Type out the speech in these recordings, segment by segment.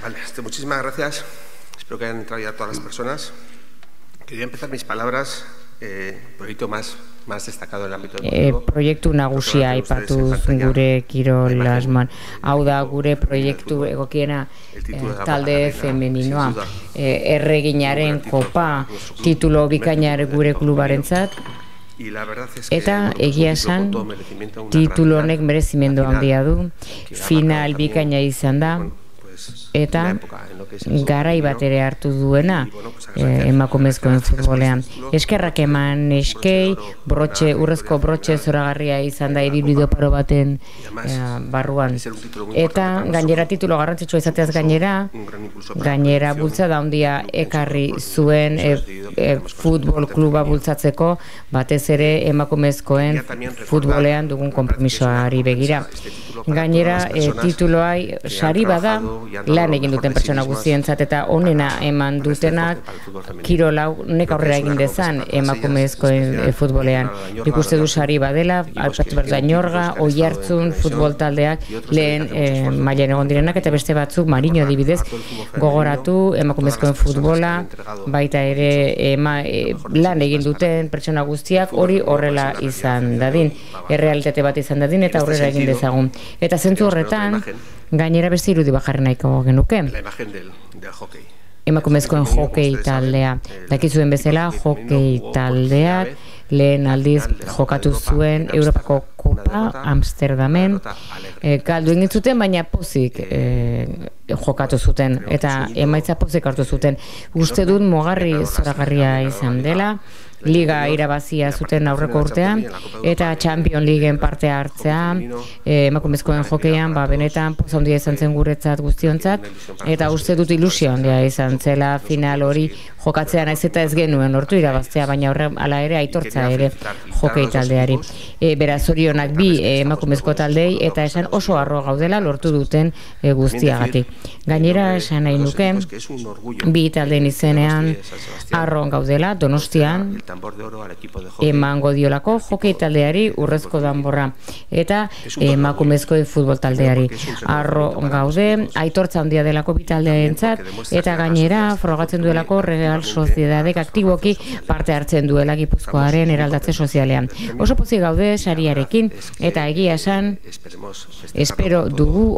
Vale, muchísimas gracias. Espero que hayan entrado ya todas las personas. Quería empezar mis palabras, proyecto más destacado en el ámbito deportivo. Proiektu nagusia aipatu gure kirol asman. Hau da gure proiektu egokiena talde femeninoa. Erreginaren kopa titulo bikainar gure klubarentzat. Eta egia esan titulo honek merezimendu handia du. Final bikaina izan da. Eta garai bat ere hartu duena emakumezkoen futbolean. Eskerrak eman eskei, urrezko brotxe zoragarria izan da ibilbide paro baten barruan. Eta gainera titulo garrantzitsua izateaz gainera bultzada handia ekarri zuen futbol kluba bultzatzeko, batez ere emakumezkoen futbolean dugun konpromisoari begira. Gainera tituloai sari bada lan egin duten pertsona guztientzat eta onena eman dutenak kirolau nek aurrera egin dezan emakumezkoen futbolean. Nik uste du sari badela, Alberto Berdañorga, Oiartzun futbol taldeak lehen mailan egon direnak eta beste batzuk Mariño adibidez gogoratu emakumezkoen futbola, baita ere lan egin duten pertsona guztiak hori horrela izan dadin, errealitate bat izan dadin eta aurrera egin dezagun. Eta zentzu horretan, gainera beste irudi bajarri nahiko genuke. Emakumezkoen hokei taldea. Dakizuen bezala, hokei taldeak lehen aldiz jokatu zuen Europako Kopa Amsterdamen. Galdu egin zuten, baina pozik jokatu zuten eta emaitza pozik hartu zuten. Uste dut mugarri zoragarria izan dela. Liga irabazia zuten aurreko urtean eta Champions Leagueen parte hartzea emakumezkoen hokeian benetan poza handia izan zen guretzat guztiontzat eta uste dut ilusio handia izan zela final hori jokatzea naiz eta ez genuen lortu irabaztea, baina hala ere aitortza ere hokei taldeari. Beraz zorionak bi emakumezko taldei eta esan oso harro gaudela lortu duten guztiagatik. Gainera esan nahi nuke bi taldeen izenean harro gaudela Donostian emango diolako hokei taldeari urrezko danborra eta emakumezko futbol taldeari harro gaude, aitortza handia delako bi taldeentzat eta gainera frogatzen duelako Real Sociedadek aktiboki parte hartzen duela Gipuzkoaren eraldatze sozialean. Oso pozik gaude sariarekin eta egia esan espero dugu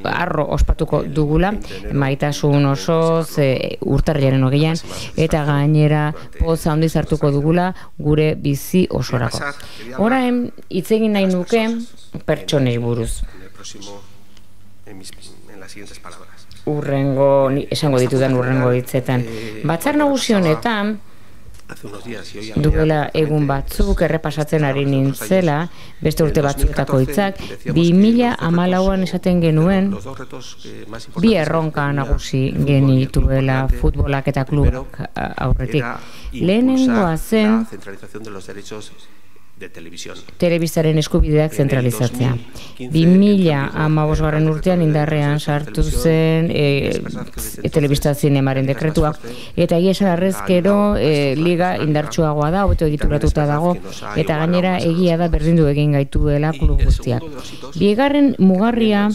harro ospatuko dugula maitasun osoz urtarrilaren 20an eta gainera poza handiz hartuko dugula gure bizi osorako. Orain hitz egin nahi nuke pertsonei buruz. Esango ditudan urrengo hitzetan. Batzar nagusi honetan duela egun batzuk errepasatzen ari nintzela, beste urte batzuetako hitzak, 2014an esaten genuen bi erronka nagusi genituela futbolak eta klubak aurretik. Lehenengoa zen telebistaren eskubideak zentralizatzea. 2015 urtean indarrean sartu zen telebista zinemaren dekretua eta egia esan arrezkero liga indartsuagoa da, hobeto egituratuta dago eta gainera egia da berdindu egin gaituela klub guztiak. Bigarren mugarria,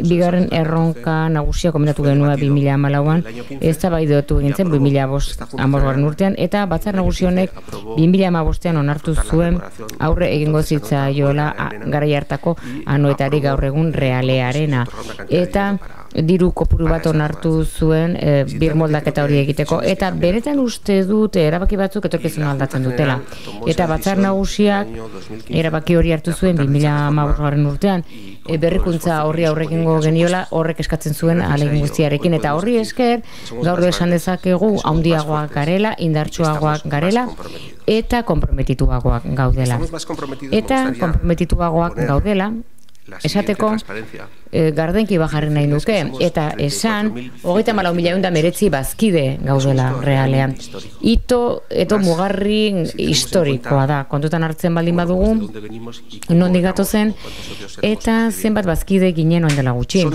bigarren erronka nagusia komentatu genuen 2014an, eztabaidatu egin zen 2015 urtean eta batzar nagusi honek 2015an onartu zuen aurre egingo zitzaiola garai hartako anoetari gaur egun realearena eta diru kopuru bat onartu zuen birmoldaketa hori egiteko eta benetan uste dut erabaki batzuk etorkizuna aldatzen dutela eta batzar nagusiak erabaki hori hartu zuen 2015 urtean berrikuntza horri aurre egingo geniola horrek eskatzen zuen ahalegin guztiarekin eta horri esker gaur esan dezakegu handiagoak garela, indartsuagoak garela eta konprometituagoak gaudela. Eta konprometituagoak gaudela esateko gardenki bajarri nahi nuke eta esan 34.119 bazkide gaudela realean. Ito mugarri historikoa da, kontutan hartzen baldin badugu nondik gatozen eta zenbat bazkide ginen orain dela gutxi.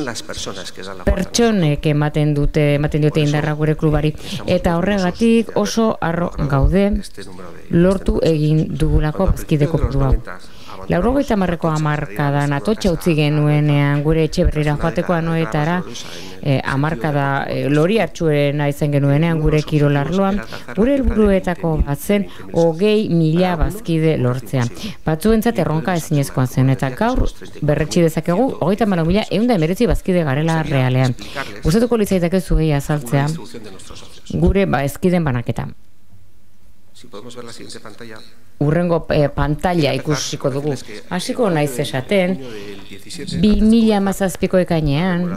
Pertsonek ematen diote indarra gure klubari eta horregatik oso harro gaude lortu egin dugulako bazkide kopurua. 90ko hamarkadan atotxa utzi genuenean gure etxe berrira joateko anoetara, hamarkada lori hartxuena izan genuenean gure kirolarloan, gure helburuetako bat zen 20.000 bazkide lortzea. Batzuentzat erronka ezinezkoa zen, eta gaur berretsi dezakegu 34.119 bazkide garela realean. Gustatuko litzaidake zuei azaltzea gure bazkideen banaketa. Urrengo pantalla ikusiko dugu. Hasiko naiz esaten, 2017ko ekainean,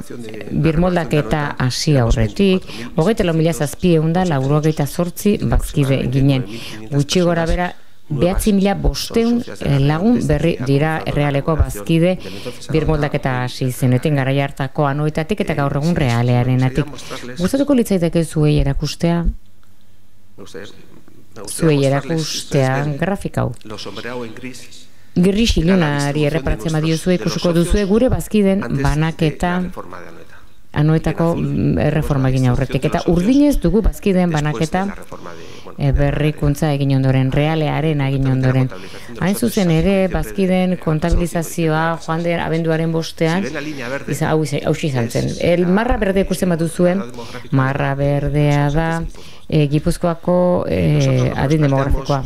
birmoldaketa hasi aurretik, 24.798 bazkide ginen. Gutxi gora bera, 9.500 lagun berri dira errealeko bazkide birmoldaketa hasi zenetik garai hartako anoetatik eta gaur egun realearenatik. Gustatuko litzaidake zuei erakustea? Zuei erakustean grafikau. Gris ilunari erreparatzen badiozu ikusiko duzue gure bazkiden banaketa anoetako erreforma egin aurretik. Eta urdinez dugu bazkiden banaketa berrikuntza egin ondoren, realearen egin ondoren. Hain zuzen ere, bazkiden kontabilizazioa joan den abenduaren bostean, hau izan zen. Marra berdea ikusten bat duzuen, marra berdea da, Gipuzkoako adin demografikoa.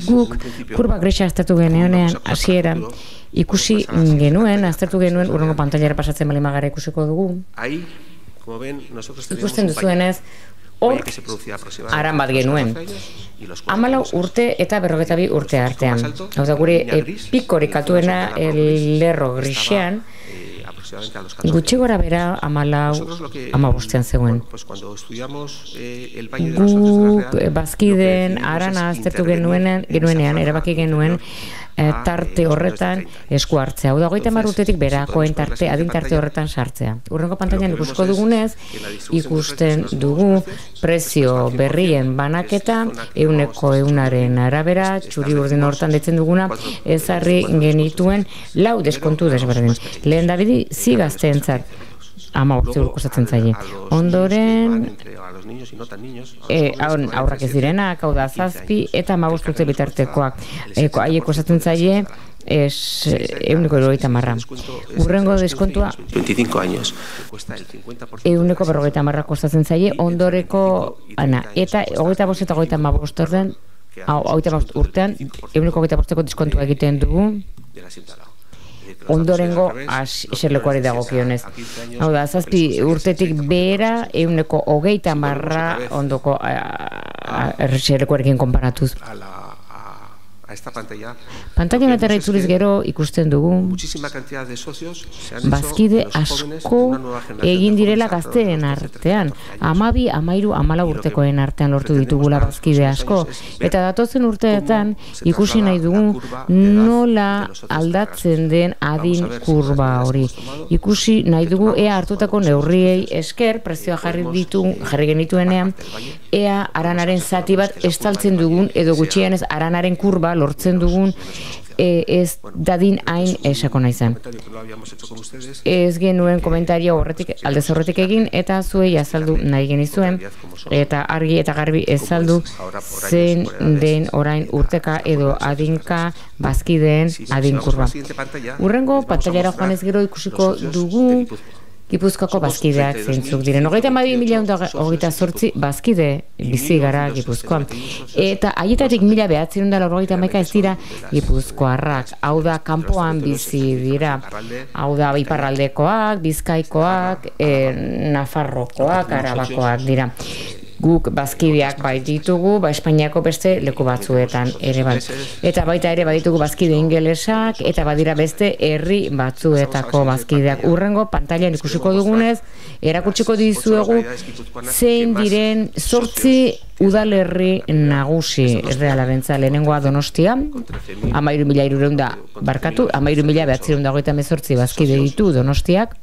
Guk kurba grisa aztertu genuenean hasieran ikusi genuen, aztertu genuen urrengo pantailara pasatzen bali magara ikusiko dugu. Ikusten duzuenez, hor aran bat genuen. 14 urte eta 42 urte artean. Hau da gure pikorik altuena lerro grisean, gutxi gora bera 15 zegoen. Guk bazkiden arana aztertu genuenean, erabaki genuen tarte horretan esku hartzea. Hau da, 30 urtetik berakoen adin tarte horretan sartzea. Urrengo pantailan ikusiko dugunez, ikusten dugu prezio berrien banaketa, 100% arabera, txuri urdin hortan detzen duguna, ezarri genituen 4 deskontu desberdin. Lehen dabidi, zigazteentzat 15 kostatzen zaie. Ondoren, aurrak ez direnak, hau da 7 eta 15 urte bitartekoak. Haiek kostatzen zaie 150. Urrengo deskontua 25 años. 150 kostatzen zaie, ondoreko eta 25 eta 25 urtean 125ko deskontua egiten dugu. Ondorengo eserlekuari dagokionez. Hau da, 7 urtetik behera 120 ondoko eserlekuarekin konparatuz. Pantaila honetara itzuliz gero ikusten dugu bazkide asko egin direla gazteen artean. 12, 13, 14 urtekoen artean lortu ditugula bazkide asko. Eta datozen urteetan ikusi nahi dugu nola aldatzen den adin kurba hori. Ikusi nahi dugu ea hartutako neurriei esker, prezioa jarri genituenean, ea aranaren zati bat estaltzen dugun edo gutxienez aranaren kurba lortzen dugun ez dadin hain esako naizan. Ez genuen komentario aldez horretik egin eta zuei azaldu nahi genizuen eta argi eta garbi ezaldu zein den orain urteka edo adinka bazkideen adinkurba. Urrengo pantailara joanez gero ikusiko dugu Gipuzkoako bazkideak zeintzuk diren. 32.128 bazkide bizi gara Gipuzkoan. Eta haietatik 1.991 ez dira Gipuzkoarrak. Hau da, kanpoan bizi dira. Hau da, iparraldekoak, bizkaikoak, nafarrokoak, arabakoak dira. Guk bazkideak bai ditugu, Espainiako beste leku batzuetan ere bai. Eta baita ere baditugu bazkide ingelesak, eta badira beste herri batzuetako bazkideak. Urrengo pantailan ikusiko dugunez, erakutsiko dizuegu zein diren 8 udalerri nagusi errealabentza. Lehenengoa Donostia, 13.928 bazkide ditu Donostiak.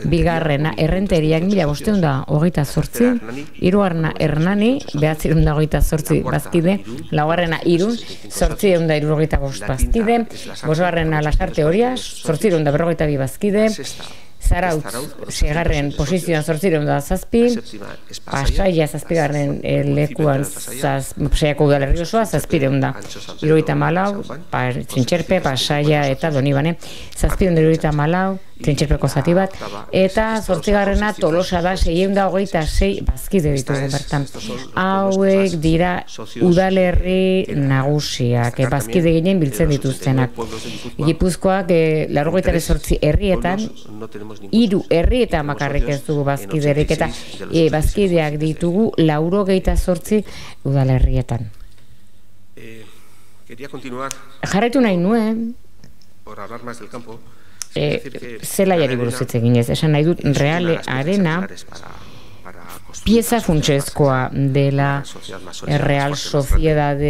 Bigarrena Errenteriak 1.528, hirugarrena Hernani 928 bazkide, laugarrena Irun 875 bazkide, bosgarrena Lasarte Orias 852 bazkide, Zarautz, segarren posizioan 807, Pasaia 7. lekuan Pasaiako udalerri osoa 700, 74, Trintxerpe, Pasaia eta Donibane 774, Trintxerpeko zati bat, eta 8. Tolosa da 626 bazkide ditugu bertan. Hauek dira udalerri nagusiak, bazkide ginen biltzen dituztenak. Gipuzkoak 98 herrietan, 3 herrietan bakarrik ez dugu bazkiderik, eta bazkideak ditugu 98 udalerrietan. Jarraitu nahi nuen, zelaiari buruz hitz eginez, esan nahi dut Reale Arena pieza funtsezkoa dela Real Sociedad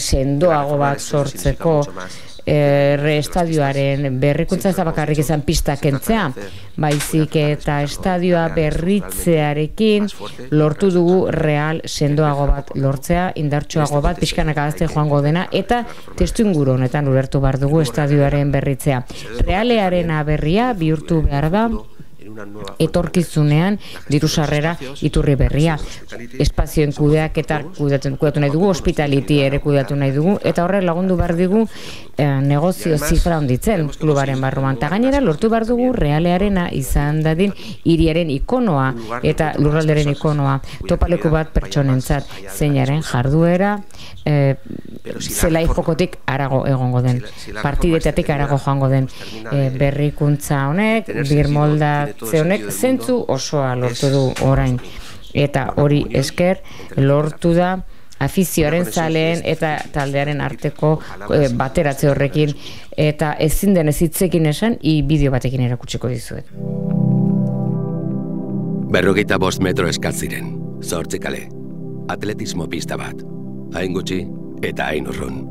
sendoago bat sortzeko, estadioaren berrikuntza ez da bakarrik izan pista kentzea, baizik eta estadioa berritzearekin lortu dugu Real sendoago bat lortzea, indartsuago bat, pixkanaka gazte joango dena, eta testuinguru honetan ulertu behar dugu estadioaren berritzea. Realearena berria bihurtu behar da etorkizunean diru sarrera iturri berria. Espazioen kudeaketa kudeatu nahi dugu, hospitality ere kudeatu nahi dugu, eta horre lagundu behar digu negozio zifra honditzen klubaren barruan. Eta gainera lortu behar dugu Realearena izan dadin hiriaren ikonoa eta lurralderen ikonoa, topaleku bat pertsonentzat, zeinaren jarduera zelai jokotik arago egongo den, partidetatik arago joango den, berrikuntza honek, birmoldatze honek zentzu osoa lortu du orain, eta hori esker lortu da afizioaren zaleen eta taldearen arteko bateratze horrekin, eta ezin denez hitzekin esan bideo batekin erakutsiko dizuet. 45 metro eskatziren, 8 kale, atletismo pista bat, hain gutxi eta hain urrun.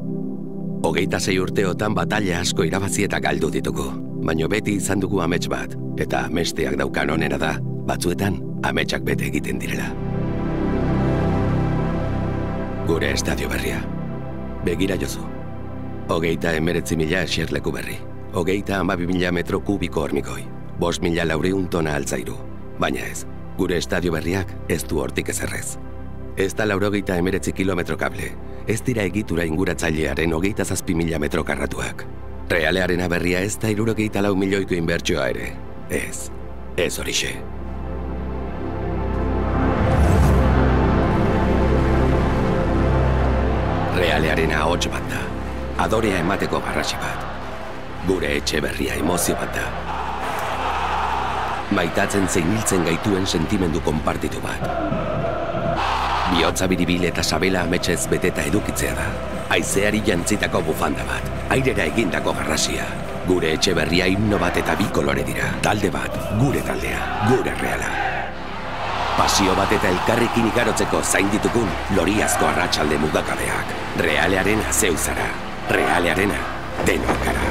26 urteotan batalla asko irabazi eta galdu ditugu, baino beti izan dugu amets bat, eta amesteak daukan onera da, batzuetan ametsak bete egiten direla. Gure estadio berria. Begira jozu. 39.000 eserleku berri. 32.000 metro kubiko hormigoi. 5.400 tona altzairu. Baina ez, gure estadio berriak ez du hortik ezerrez. Ez da 89 kilometro kable. Ez dira egitura inguratzailearen 27.000 metro karratuak. Realearena berria ez da 64 milioiko inbertsioa ere. Ez horixe. Realearena ahots bat da, adorea emateko garrasi bat. Gure etxe berria emozio bat da. Maitatzen zein hiltzen gaituen sentimendu konpartitu bat. Bihotza biribil eta sabela ametsez beteta edukitzea da. Haizeari jantzitako bufanda bat, airera egindako garrasia. Gure etxe berria himno bat eta 2 kolore dira. Talde bat, gure taldea, gure Reala. Pasio bat eta elkarrekin igarotzeko zain ditugun loriazko arratsalde mugakabeak. Realearena zeu zara. Realearena denok gara.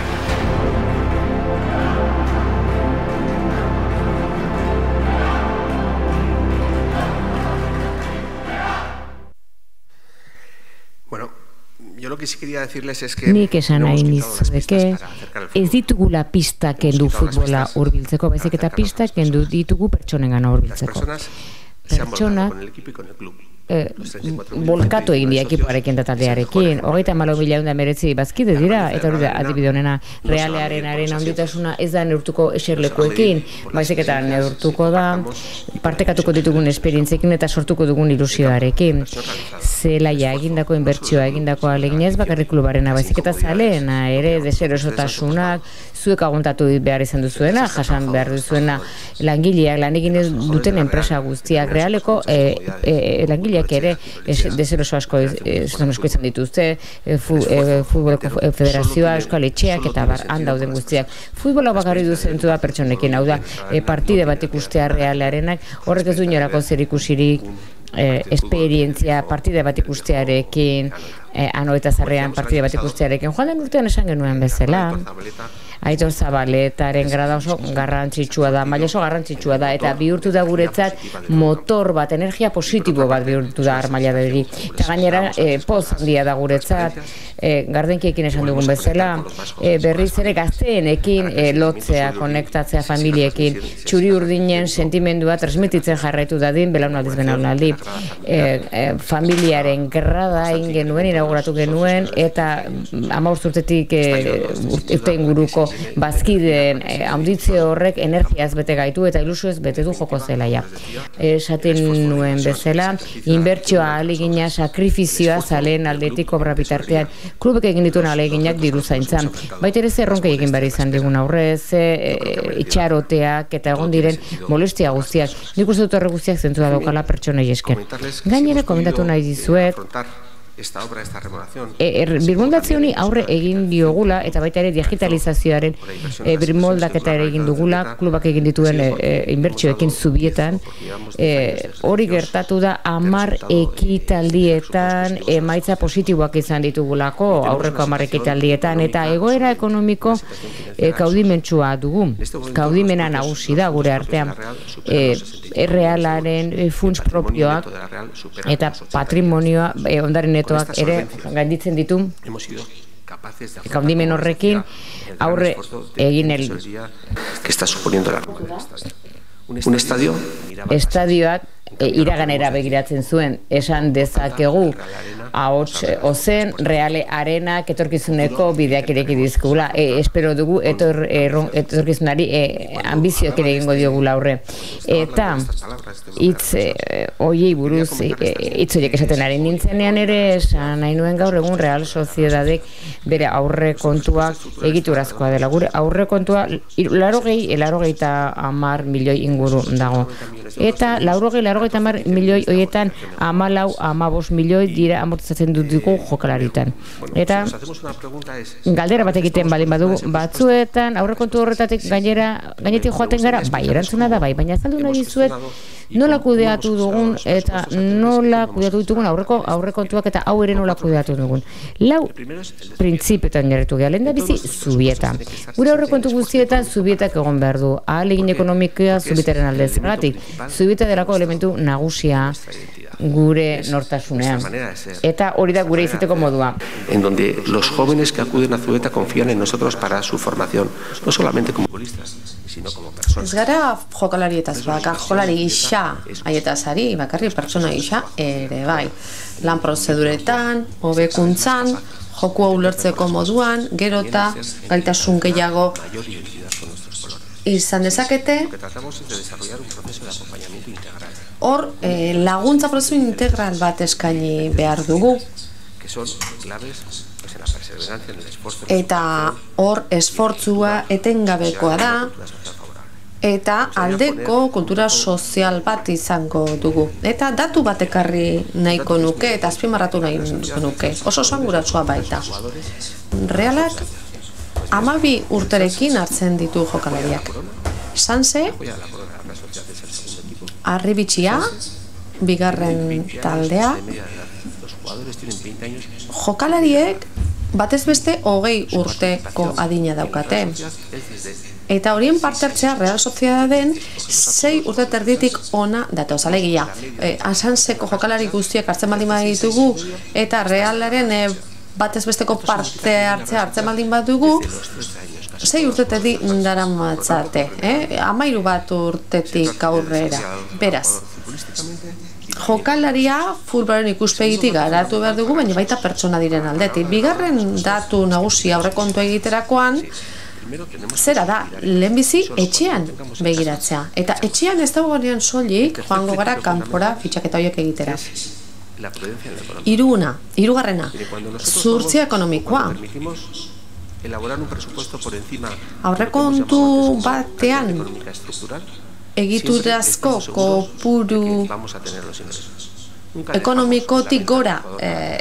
Nik esan nahi nizudeke, ez ditugula pista kendu futbola hurbiltzeko, baizik eta pista kendu ditugu pertsonengana hurbiltzeko. Pertsonak bolkatu egin dira ekipoarekin eta taldearekin, 34.000 bazkide dira, eta hori da adibide honena Realearenaren handitasuna ez da neurtuko eserlekuekin, baizik eta neurtuko da partekatuko ditugun esperientziekin eta sortuko dugun ilusioarekin. Zelaia egindako inbertsioa egindako aleginez bakarrik klubarena, baizik eta zaleena ere deserosotasunak zuek aguntatu behar izan duzuena, jasan behar duzuena langileak, lan egin duten enpresa guztiak, Realeko langileak ere deseroso asko izan dituzte, futboleko federazioa, euskal etxeak eta han dauden guztiak. Futbola bakarri duzentu da pertsonekin, hau da, partide bat ikustea Realearenak, horrek ez du inorako zerikusirik, esperientzia partide bat ikustearekin, ano eta zarrean partide bat ikustearekin. Joan den urtean esan genuen bezala, Aitor Zabaletaren grada oso garrantzitsua da, maila oso garrantzitsua da, eta bihurtu da guretzat motor bat, energia positibo bat bihurtu da Armaila Begi. Eta gainera, poz handia da guretzat, gardenkiekin esan dugun bezala, berriz ere gazteenekin lotzea, konektatzea familiekin, txuri urdinen sentimendua transmititzen jarraitu dadin, belaunaldiz belaunaldi. Familiaren grada egin genuen, inauguratu genuen, eta 15 urtetik urte inguruko bazkideen audizio horrek energiaz bete gaitu eta ilusioez bete du joko zelaia. Esaten nuen bezala, inbertsioa ahalegina, sakrifizioa zaleen aldetik obra bitartean, klubek egin dituen ahaleginak diru zaintzan. Baita ere zerronkei egin behar izan digun aurrez, itxaroteak eta egon diren molestia guztiak. Nik uste dut horre guztiak zentzua daukala pertsonei esker. Gainera komentatu nahi dizuet, birmoldatze honi aurre egin diogula eta baita ere digitalizazioaren birmoldaketa ere egin dugula, klubak egin dituen inbertsioekin zubietan, hori gertatu da 10 ekitaldietan emaitza positiboak izan ditugulako aurreko 10 ekitaldietan, eta egoera ekonomiko kaudimentsua dugu, kaudimena nagusi da gure artean, errealaren funts propioak eta patrimonioa ondaren ere gainditzen ditu kaudimen horrekin aurre egin que está suponiendo un estadio estadioak iraganera begiratzen zuen, esan dezakegu ahots ozen Reale Arenak etorkizuneko bideak ireki dizkugula, espero dugu etorkizunari ambizioak ere egingo diogula aurre, eta hitz hoiei buruz hitz horiek esaten ari nintzenean ere esan nahi nuen gaur egun Real Sociedadek bere aurrekontuak egiturazkoa dela, gure aurrekontua 80 milioi inguru dago, eta 80 milioi horietan 14-15 milioi dira amortizatzen dugu jokalaritan. Eta galdera bat egiten baldin badugu, batzuetan aurrekontu horretatik gainetik joaten gara, bai, erantzuna da bai, baina azaldu nahi dizuet nola kudeatu dugun eta nola kudeatu ditugun aurrekontuak eta hau ere nola kudeatu dugun. 4 printzipioetan jarritu geha, lehen da bizi zubieta. Gure aurrekontu guztietan zubietak egon behar du, ahalegin ekonomikoa zubietaren alde zergatik. Zubieta delako elementu nagusia gure nortasunean. Eta hori da gure izateko modua. En donde los jóvenes que acuden a Zubieta confían en nosotros para su formación, no solamente como futbolistas, sino como personas. Ez gara jokalarietaz bakar, jokalari gisa haietaz ari, bakarri pertsona gisa ere bai. Lan prozeduretan, hobekuntzan, jokua ulertzeko moduan, gero eta gaitasun gehiago izan dezakete. Hor, laguntza prozesu integral bat eskaini behar dugu. Eta hor, esfortzua etengabekoa da, eta aldeko kultura sozial bat izango dugu. Eta datu bat ekarri nahiko nuke, eta azpimarratu nahiko nuke. Oso esanguratsua baita. Realak 12 urterekin hartzen ditu jokalariak. Sanse, Arribitxia, bigarren taldea, jokalariek batez beste 20 urteko adina daukate. Eta horien parte hartzea Real Sociedaden 6 urte terditik ona datoz, alegia. Sanseko jokalari guztiak hartzen baldin baditugu eta Realaren batez besteko parte hartzen baldin badugu, 6 urtetetik daramatzate, 13 urtetik aurrera. Beraz, jokalaria futbolaren ikuspegitik garatu behar dugu, baina baita pertsona diren aldetik. Bigarren datu nagusi aurrekontu egiterakoan, zera da, lehenbizi etxean begiratzea. Eta etxean ez dagoenean soilik joango gara kanpora fitxaketa horiek egitera. Hirugarrena, zuhurtzia ekonomikoa. Aurrekontu batean egiturazko kopuru ekonomikotik gora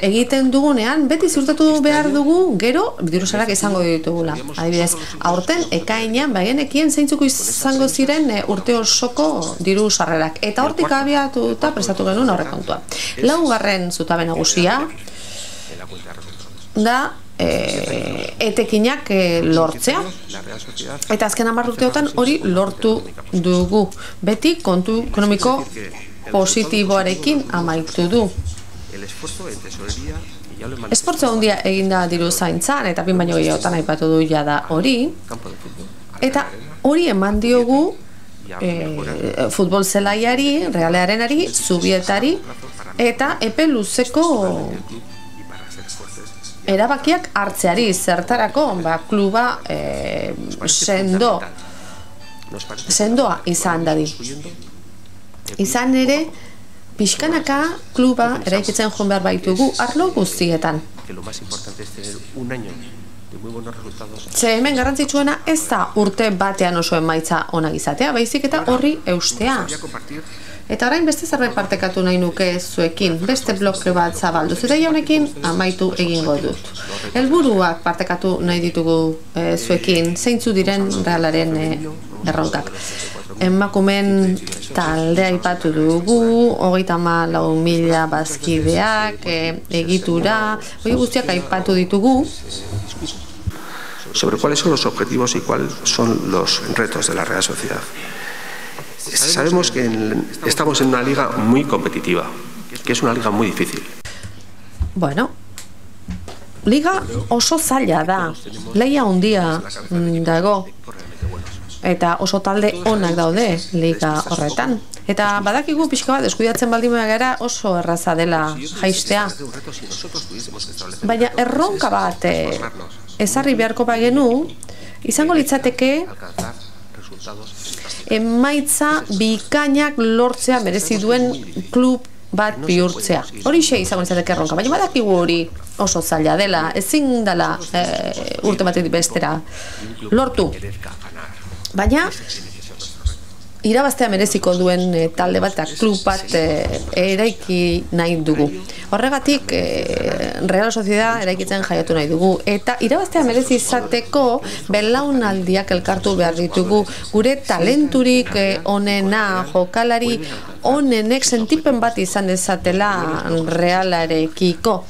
egiten dugunean, beti ziurtatu behar dugu gero diruzarak izango ditugula. Adibidez, aurten ekainean bagenekien zeintzuk izango ziren urte osoko diru sarrerak. Eta hortik abiatuta prestatu genuen aurrekontua. Laugarren zutabe nagusia da etekinak lortzea. Eta azken 10 urteotan hori lortu dugu. Beti kontu ekonomiko positiboarekin amaitu du. Esfortzu handia eginda diru zaintzan, eta bin baino gehiagotan aipatu du jada hori. Eta hori eman diogu futbol zelaiari, Realearenari, Zubietari, eta epe luzeko erabakiak hartzeari, zertarako, kluba sendoa izan dadi. Izan ere, pixkanaka kluba eraikitzen joan behar baitugu arlo guztietan. Ze hemen garrantzitsuena ez da urte batean oso emaitza onak izatea, baizik eta horri eustea. Eta orain beste zerbait partekatu nahi nuke zuekin, beste bloke bat zabalduz, eta jaunekin amaitu egingo dut. Helburuak partekatu nahi ditugu zuekin, zeintzu diren Realaren erronkak. Emakumen taldea aipatu dugu, 34.000 bazkideak, egitura, hori guztiak aipatu ditugu. Sobre cuáles son los objetivos y cuáles son los retos de la Real Sociedad. Sabemos que estamos en una liga muy competitiva, que es una liga muy difícil. Bueno, liga oso zaila da, lehia handia dago, eta oso talde onak daude liga horretan. Eta badakigu pixka bat deskuidatzen baldin gara oso erraza dela jaistea. Baina erronka bat ezarri beharko bagenu, izango litzateke emaitza bikainak lortzea merezi duen klub bat bihurtzea. Horixe izango litzateke erronka, baina badakigu hori oso zaila dela, ezin dela urte batetik bestera lortu. Baina irabaztea mereziko duen talde bat eta klub bat eraiki nahi dugu. Horregatik Real Sociedad eraikitzen jaiatu nahi dugu. Eta irabaztea merezi izateko belaunaldiak elkartu behar ditugu. Gure talenturik onena, jokalari onenek sentipen bat izan dezatela Realarekiko.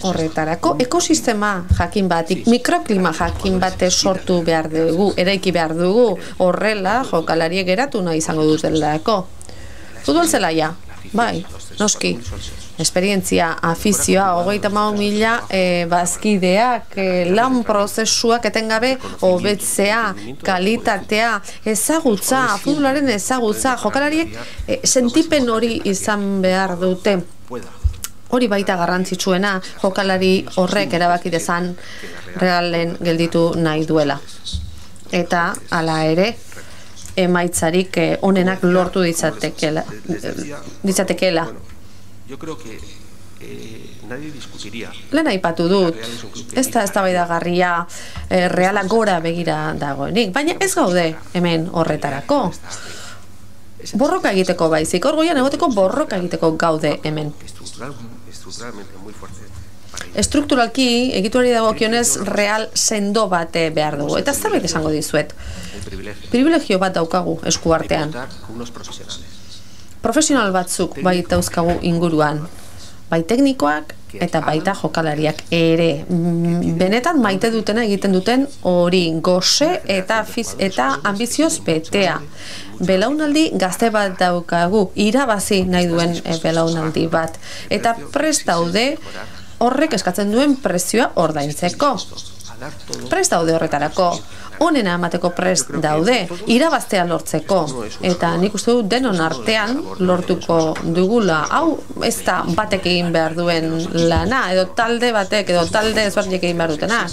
Horretarako ekosistema jakin batik, mikroklima jakin bate sortu behar dugu, eraiki behar dugu, horrela jokalariek geratu nahi izango dutelako. Futbol zelaia, bai, noski, esperientzia, afizioa, 34.000 bazkideak, lan prozesuak etengabe hobetzea, kalitatea, ezagutza, futbolaren ezagutza, jokalariek sentipen hori izan behar dute. Hori baita garrantzitsuena, jokalari horrek erabaki dezan Realen gelditu nahi duela. Eta, hala ere, emaitzarik onenak lortu ditzatekeela. Lehen aipatu dut, ez da eztabaidagarria Reala gora begira dagoenik, baina ez gaude hemen horretarako. Borroka egiteko baizik, hor goian egoteko borroka egiteko gaude hemen. Estrukturalki, egituari dagokionez Real sendo bate behar dugu. Eta zerbait esango dizuet. Privilegio bat daukagu eskuartean. Profesional batzuk baita dauzkagu inguruan. Bai teknikoak eta baita jokalariak ere. Benetan maite dutena egiten duten hori gose eta ambizioz betea. Belaunaldi gazte bat daukagu, irabazi nahi duen belaunaldi bat. Eta prest daude horrek eskatzen duen prezioa ordaintzeko. Prest daude horretarako, onena emateko prest daude, irabaztea lortzeko. Eta nik uste dut denon artean lortuko dugula. Hau ez da batek egin behar duen lana, edo talde batek, edo talde ezberdinek egin behar dutena.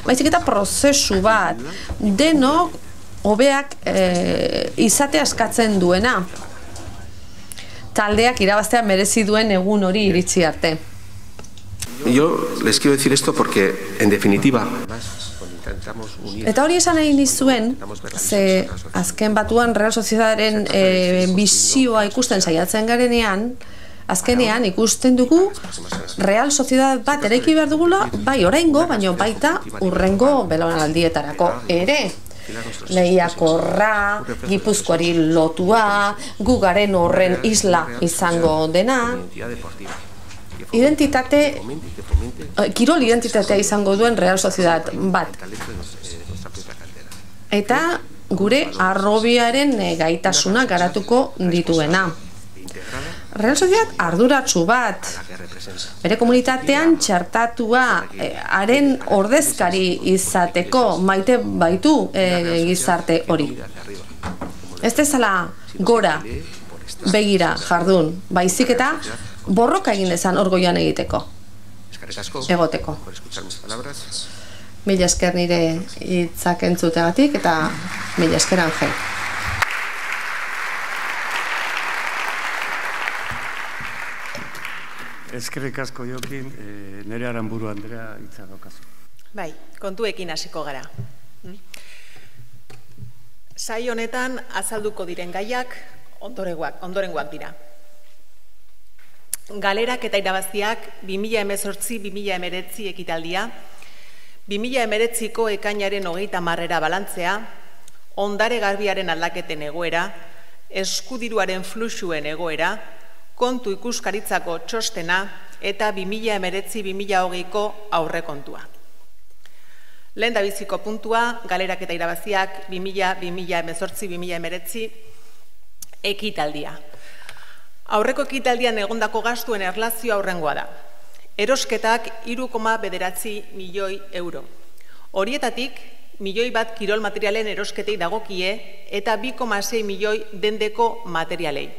Baizik eta prozesu bat, denok hobeak izatea eskatzen duena. Taldeak irabaztea merezi duen egun hori iritsi arte. Yo les quiero decir esto porque, en definitiva, eta hori esan nahi nizuen, ze azken batuan Real Sociedadaren bizioa ikusten saiatzen garenean, azkenean ikusten dugu Real Sociedad bat eraiki behar dugula, bai oraingo, baino baita urrengo belaunaldietarako ere. Lehiakorra, Gipuzkoari lotua, gugaren horren isla izango dena. kirol identitatea izango duen Real Sociedad bat. Eta gure arrobiaren gaitasuna garatuko dituena. Real Sociedad arduratsu bat, bere komunitatean txartatua haren ordezkari izateko maite baitu gizarte hori. Ez dezala gora begira jardun, baizik eta borroka egin dezan orgoian egoteko. Mila esker nire hitzak entzutegatik eta mila esker Angel. Eskerrik asko Jokin, nire Aranburu Andrea hitza daukazu. Bai, kontuekin hasiko gara. Saio honetan azalduko diren gaiak ondorengoak dira. Galerak eta irabaziak 2018-2019 ekitaldia, 2019ko ekainaren 30 balantzea, ondare garbiaren aldaketen egoera, eskudiruaren fluxuen egoera, kontu ikuskaritzako txostena eta 2019-2020ko aurrekontua. Lehen dabiziko puntua, galerak eta irabaziak 2018-2019 ekitaldia. Aurreko ekitaldian egondako gastuen erlazioa aurrengoa da. Erosketak 3,9 milioi euro. Horietatik, milioi bat kirol materialen erosketei dagokie eta 2,6 milioi dendeko materialei.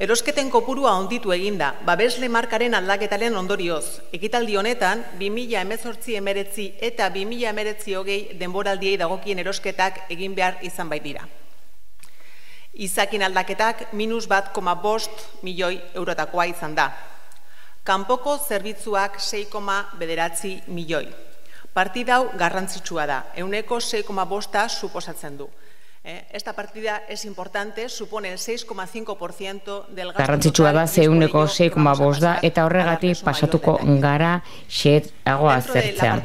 Erosketen kopurua onditu eginda, babesle markaren aldaketaren ondorioz. Ekitaldi honetan, 2018-2019 eta 2019-2020 denboraldiei dagokien erosketak egin behar izan baitira. Izakin aldaketak -1,5 milioi eurotakoa izan da. Kanpoko zerbitzuak 6,9 milioi. Partidau garrantzitsua da, 6,5% suposatzen du. Esta partida es importante, supone el 6,5% del gasto. Garrantzitsua da 6,5% da eta horregatik pasatuko gara xeago aztertzea.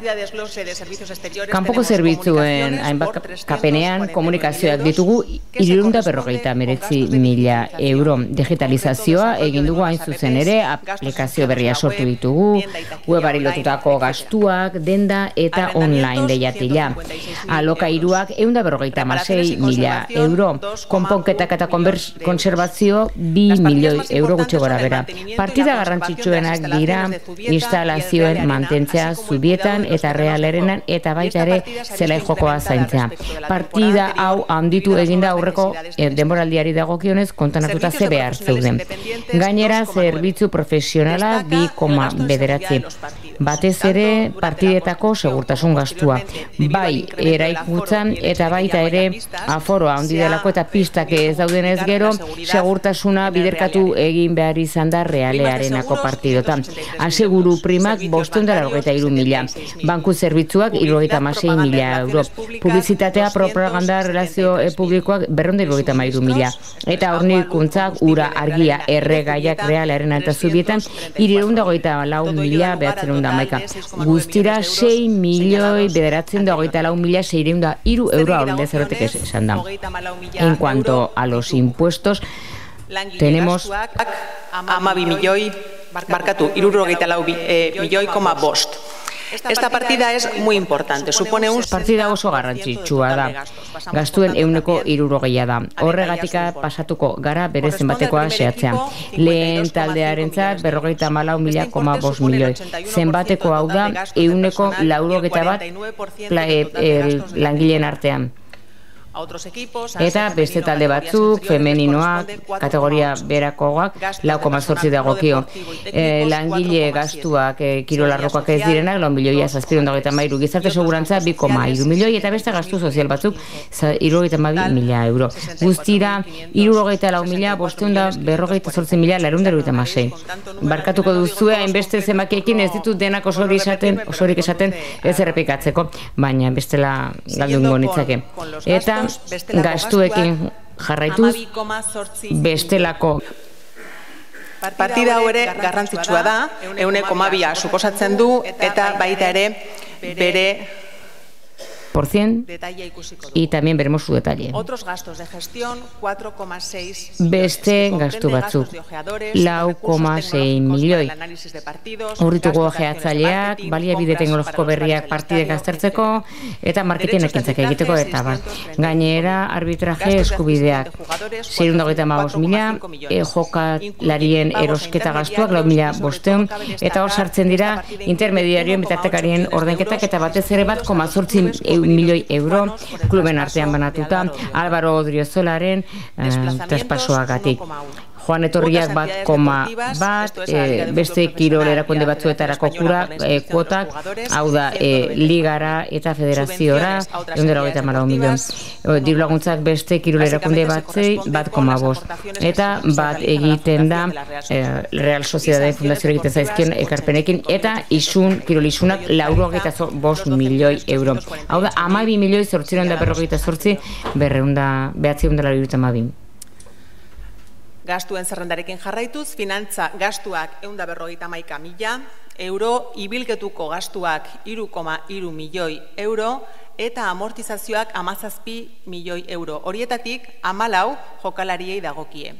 Kanpoko zerbitzuen hainbat kapenean komunikazioak ditugu 349.000 euro. Digitalizazioa egin dugu hain zuzen ere, aplikazio berria sortu ditugu, webari lotutako gastuak, denda eta online lehiatila. Alokairuak 156.000 euro, konponketak eta konservazio 2 milioi euro gutxi gora bera. Partida garrantzitsuenak dira instalazioen mantentzea zubietan eta realerenan eta baita ere zelai jokoa zaintzea. Partida hau handitu eginda aurreko denboraldiari dagokionez kontanatuta ze behar zeuden. Gainera zerbitzu profesionala 2,9. Batez ere partidetako segurtasun gastua. Bai eraikuntzan eta baita ere aforoa handi delako eta pistak ez daudenez gero, segurtasuna biderkatu egin behar izan da realearenako partidotan. Aseguru primak 593.000, banku zerbitzuak 76.000 euro, publizitatea propaganda relazio publikoak 253.000, eta hornikuntzak ura argia erregaiak realearen eta zubietan 324.911. Guztira 6.924.603 euro aurrendez erotek esan da. En cuanto a los impuestos, tenemos 3,4 Esta partida es muy importante, supone un... Partida oso garrantzitsua da, gastuen 3% da. Horregatika pasatuko gara bere zenbatekoa xehatzea. Lehen taldearentzat 54.500 milioi. Zenbateko hau da 181 langileen artean. Eta beste talde batzuk, femeninoak, kategoria berakoak, 4,8 dagokio. Langile gastuak, kirolarrokoak ez direnak, 4.723.000, gizarte segurantza 2,3 milioi, eta beste gastu sozial batzuk 72.000 euro. Guztira, 64.548.906. Barkatuko duzue, hainbeste zemakiekin ez ditut denak osorik esaten ez errepikatzeko, baina bestela galdungo nitzake. Eta gastuekin jarraituz bestelako. Partida hau ere garrantzitsua da, 1,2 suposatzen du, eta baita ere bere 6%, y también veremos su detalle. Otros gastos de gestión, 4,6 beste gastu batzuk, 4,6 milioi. Urrituko gehatzaileak, baliabide teknologiko berriak partidek aztertzeko, eta marketing ekintzak egiteko, eta bar. Gainera, arbitraje eskubideak, 625.000, jokalarien erosketa gastuak, 4.500, eta hor sartzen dira intermediarioen bitartekarien ordenketak, eta batez ere 1,8 milioi euro kluben artean banatuta, Álvaro Odriozolaren traspasoagatik. Joan etorriak 1,1, beste kirol erakunde batzuetarako kuotak, hau da, ligara eta federaziora, 124 milioi. Diru laguntzak beste kirol erakunde batzei 1,5. Eta bat egiten da Real Sociedade Fundazioa egiten zaizkien ekarpenekin, eta kirol isunak 425 milioi euro. Hau da, 12 milioi 848 972. Gastuen zerrendarekin jarraituz, finantza gastuak 151.000 euro, ibilketuko gastuak 3,3 milioi euro, eta amortizazioak 17 milioi euro. Horietatik 14 jokalariei dagokie.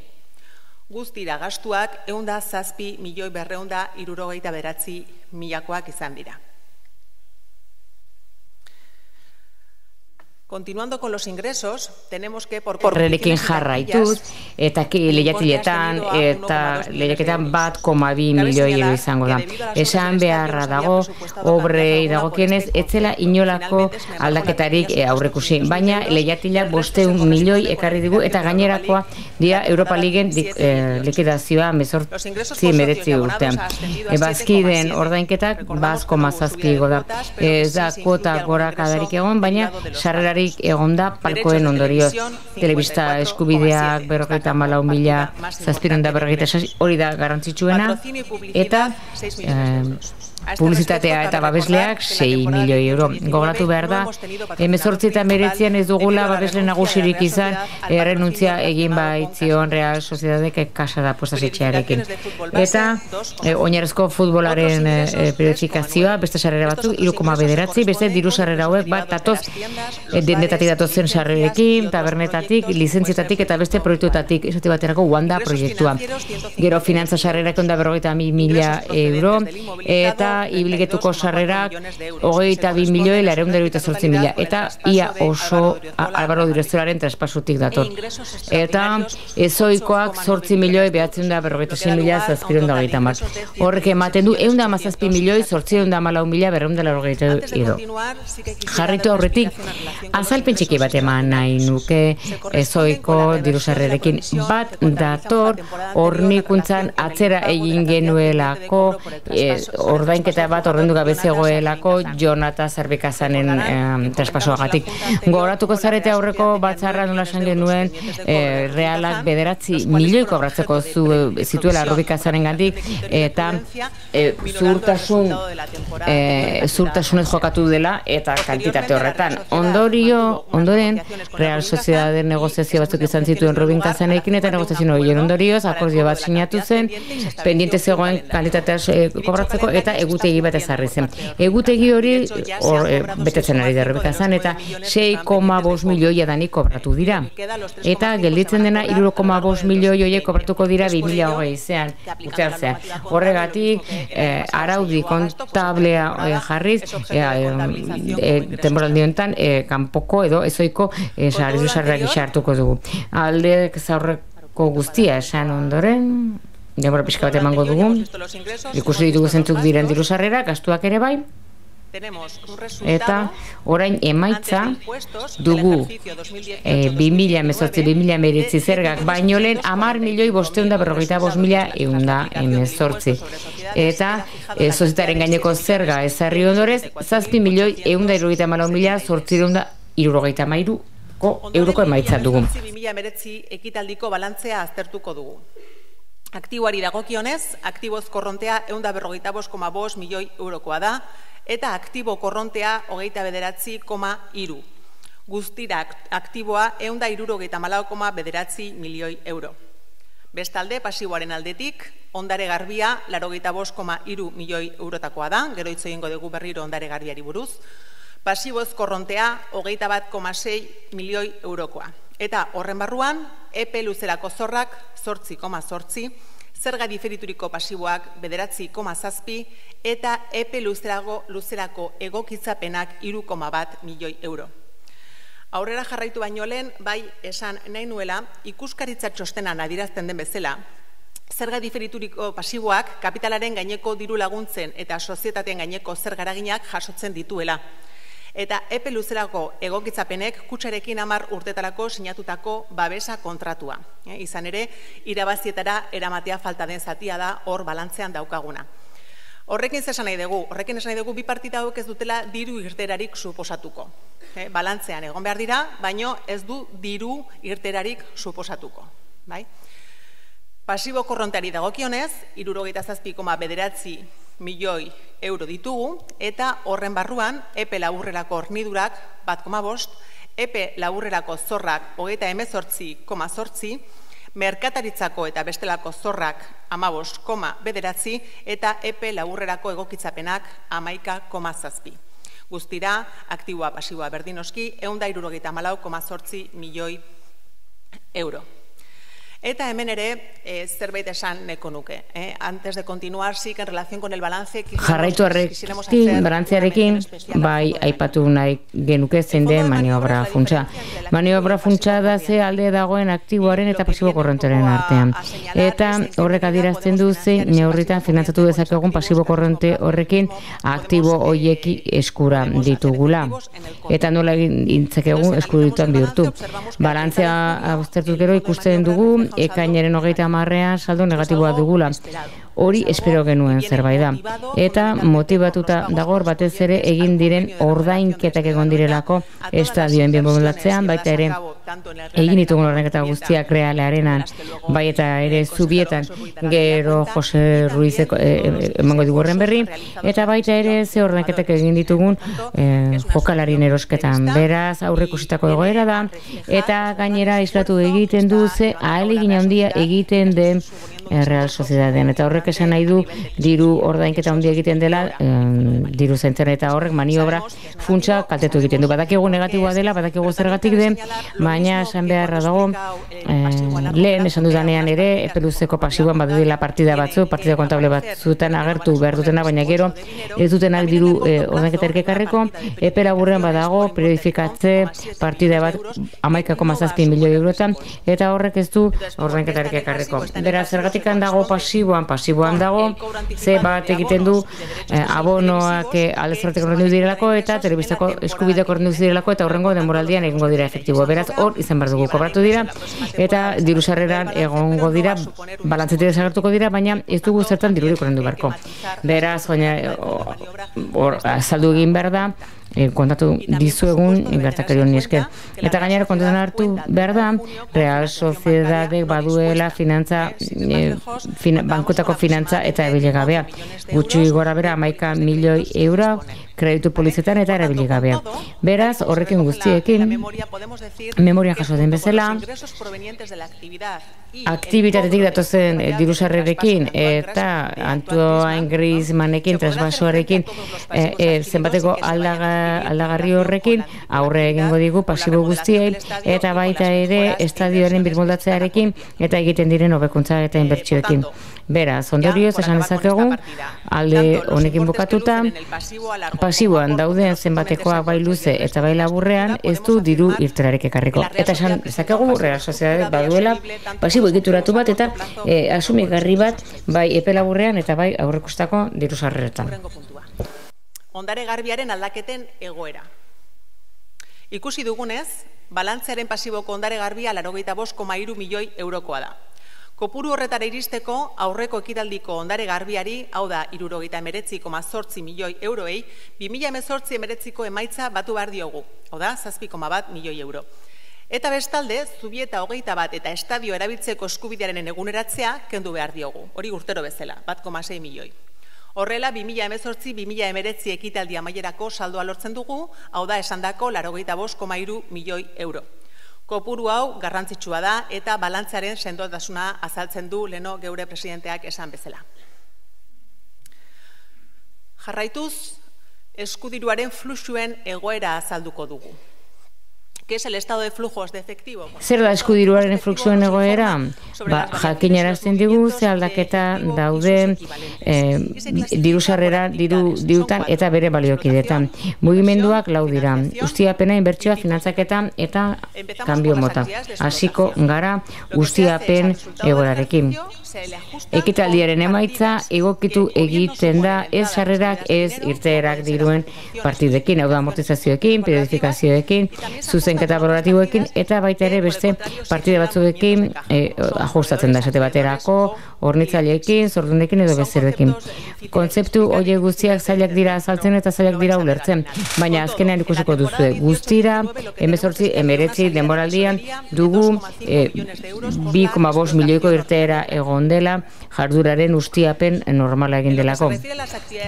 Guztira gastuak 107.269.000 izan dira. Continuando con los ingresos, tenemos que por Horrekin jarraituz, eta lehiatiletan eta lehiaketan 1,2 milioi euro izango da. Esan beharra dago, obrei dagokienez, etzela inolako aldaketarik aurrekusi. Baina lehiatilak 500 milioi ekarri digu, eta gainerakoa dira Europa Liguen likidazioa 18-19 urtean. Bazkideen ordainketak 1,7 da. Ez da kuota gorakadarik egon, baina sarrera egon da palkoen ondorioz. Telebista eskubideak 54.000, 746, hori da garrantzitsuena, eta publizitatea eta babesleak 6 milioi euro. Gogoratu behar da, 18 eta 19 ez dugula babesle nagusirik izan, errenuntzia egin baitzion Real Sociedadek kasara puestasitxearekin. Eta oinarrizko futbolaren periodifikazioa, beste sarrera batzuk, 3,9, beste diru sarrera hauek bat datoz, dendetatik datozen sarrerekin, tabernetatik, lizentzietatik eta beste proiektuetatik, esate baterako Wanda proiektua. Gero finantza sarrerak 150.000 euro, eta ibilgetuko sarrerak 22 milioi 488.000, eta ia oso Álvaro Odriozolaren traspasutik dator. Eta ezoikoak 8 milioi 946.730. Horrek ematen du 117 milioi 814.280 euro. Jarritu aurretik, azalpen txiki bat eman nahi nuke ezoiko diru sarrerekin bat dator hornikuntzan atzera egin genuelako ordainketa bat ordendu gabe zegoelako Jonata Zerbikazanen traspasoagatik. Gogoratuko zarete aurreko batzarra nola esan genuen Realak 9 milioi kobratzeko zituela Zerbikazanen gandik, eta zuhurtasunez jokatu dela eta kantitate horretan. Ondoren, Real Sociedade negoziazio batzuk izan zituen Zerbikazanekin, eta negoziazio horien ondorioz, akordio bat sinatu zen, pendiente zegoen kantitatea kobratzeko, eta egutegi bat ezarri zen. Egutegi hori betetzen ari da Zerbikazan, eta 6,5 milioi adanik kobratu dira. Eta gelditzen dena 3,5 milioi horiek kobratuko dira 2020 urtean. Horregatik, araudi kontablea jarriz, temporaldi honetan, kanpoko edo ezoiko sarrerak hartuko dugu. Aldeek zaurreko guztia esan ondoren, denbora pixka bat emango dugu, ikusi ditugu zentzuk diren diru sarrerak, gastuak ere bai, eta orain emaitza dugu 2018-2019 zergak baino lehen 10.545.118 eta sozietaren gaineko zerga ezarri ondorez 7.134.833 euroko emaitza dugu. 2019 ekitaldiko balantzea aztertuko dugu. Aktiboari dagokionez, aktiboz korrontea 145,5 milioi eurokoa da, eta aktibo korrontea 29,3. Guztira aktiboa 164,9 milioi euro. Bestalde, pasiboaren aldetik, ondare garbia 85,3 milioi eurotakoa da, gero hitz egingo dugu berriro ondare garbiari buruz. Pasiboz korrontea 21,6 milioi eurokoa. Eta horren barruan, epe luzerako zorrak 8,8, zerga diferituriko pasiboak 9,7 eta epe luzerako egokitzapenak 3,1 milioi euro. Aurrera jarraitu baino lehen, bai esan nahi nuela, ikuskaritza txostenan adierazten den bezala, zerga diferituriko pasiboak kapitalaren gaineko diru laguntzen eta sozietateen gaineko zerga eraginak jasotzen dituela. Eta epe luzerako egokitzapenek kutxarekin 10 urtetarako sinatutako babesa kontratua. Izan ere, irabazietara eramatea falta den zatia da hor balantzean daukaguna. Horrekin esan nahi dugu, bi partida hauek ez dutela diru irterarik suposatuko. Balantzean egon behar dira, baino ez du diru irterarik suposatuko. Pasibo korronteari dagokionez, 67,9 milioi euro ditugu, eta horren barruan, epe laburrerako hornidurak 1,5, epe laburrerako zorrak 38,8, merkataritzako eta bestelako zorrak 15,9 eta epe laburrerako egokitzapenak 11,7. Guztira, aktiboa pasiboa berdinoski, 174,8 milioi euro. Eta hemen ere, zerbait esan neko nuke. Antes de continuar, sí que en relación con el balance... Jarraitu horrekin, balantzearekin, bai, aipatu nahi genuke zein den maniobra funtsa. Maniobra funtsa da ze alde dagoen aktiboaren eta pasibo korronteren artean. Eta horrek adierazten du zein neurritan finantzatu dezakegun pasibo korronte horrekin aktibo hoieki eskura ditugula. Eta nola intzakegu eskudituan bihurtu. Balantzea aztertuz gero ikusten dugu ekainaren 30ean saldo negatiboa dugula. Hori espero genuen zerbait da. Eta motibatuta dagor batez ere egin diren ordainketak egon direlako estadioen bienbolatzean, baita ere egin ditugun ordainketa guztiak realearenan, bai eta ere zubietan gero Jose Ruizeko emango dugu horren berri, eta baita ere ze ordainketak egin ditugun jokalarien erosketan. Beraz, aurreikusitako egoera da, eta gainera islatu egiten du ze ahalegin handia egiten den Real Sociedadean. Eta horrek esan nahi du diru ordainketa handia egiten dela, diru zentzen eta horrek maniobra funtsa kaltetu egiten du. Badakigu negatiboa dela, badakigu zergatik den, baina esan beharra dago, lehen esan dudanean ere, epe luzeko pasiboan badudela partida batzu, partida kontable batzutan agertu behar dutena, baina gero ez dutenak diru ordainketa erkekarreko, epe laburrean badago, periodifikatze partida bat 11,7 milioi eurotan, eta horrek ez du ordainketa erkekarreko. Beraz, zergatik dago pasiboan dago, ze bat egiten du abonoak aldezartek ordendu direlako eta telebistako eskubideak ordendu direlako eta horrengo denboraldian egongo dira efektibo. Beraz, hor izan behar dugu kobratu dira eta diru sarreran egongo dira, balantzetik desagertuko dira, baina ez dugu zertan dirurik ordendu beharko. Beraz, azaldu egin behar da, kontatu dizuegun gertakari honi esker. Eta gainera kontutan hartu behar da, Real Sociedadek baduela finantza, bankotako finantza eta ebilegabea. Gutxi gora bera 11 milioi euro kreditu polizetan eta erabiligabea. Beraz, horrekin guztiekin, memorian jaso den bezala, aktibitatetik datozen dirusarrerekin eta Antoine Griezmannekin, trasbasoarekin, zenbateko aldagarri horrekin, aurre egingo digu pasibo guztiei, eta baita ere estadioaren birmoldatzearekin eta egiten diren hobekuntza eta inbertsioekin. Beraz, ondorioz esan dezakegu, alde honekin bukatuta, pasiboan dauden zenbatekoak bai luze eta bai laburrean ez du diru irterarik ekarriko. Eta esan dezakegu, Real Sociedadek baduela pasibo egituratu bat eta asumigarri bat bai epe laburrean eta bai aurrekustako diru sarreretan. Ondare garbiaren aldaketen egoera. Ikusi dugunez, balantzearen pasiboko ondare garbia 85,3 milioi eurokoa da. Kopuru horretara iristeko aurreko ekitaldiko ondare garbiari, hau da 79,8 milioi euroei, 2018-19ko emaitza batu behar diogu, hau da 7,1 milioi euro. Eta bestalde, Zubieta 21 eta estadio erabiltzeko eskubidearen eguneratzea kendu behar diogu, hori urtero bezala, 1,6 milioi. Horrela, 2018-2019 ekitaldi amaierako saldoa lortzen dugu, hau da esandako 85,3 milioi euro. Kopuru hau garrantzitsua da eta balantzaren sendotasuna azaltzen du leno geure presidenteak esan bezala. Jarraituz, eskudiruaren fluxuen egoera azalduko dugu. ¿Qué es el estado de flujos de efectivo? Zer da eskudiruaren fluxuen egoera? Jakinarazten digu ze aldaketa daude diru-sarrera, dirutan eta bere baliokidetan. Mugimenduak lau dira. Ustiapena, inbertsioa, finantzaketa eta kanbio mota. Hasiko gara ustiapen egoerarekin. Ekitaldiaren emaitza egokitu egiten da ez sarrerak ez irteerak diruen partidekin, hau da amortizazioekin, periodifikazioekin, zuzenketa progratiboekin eta baita ere beste partide batzuekin ajustatzen da esate baterako, hornitzaileekin, zordunekin edo bezeroekin. Kontzeptu horiek guztiak zailak dira azaltzen eta zailak dira ulertzen, baina azkenean ikusiko duzue guztira, 19 denboraldian dugu 2,5 milioiko irteera egon dela jarduraren ustiapen normala egin delako.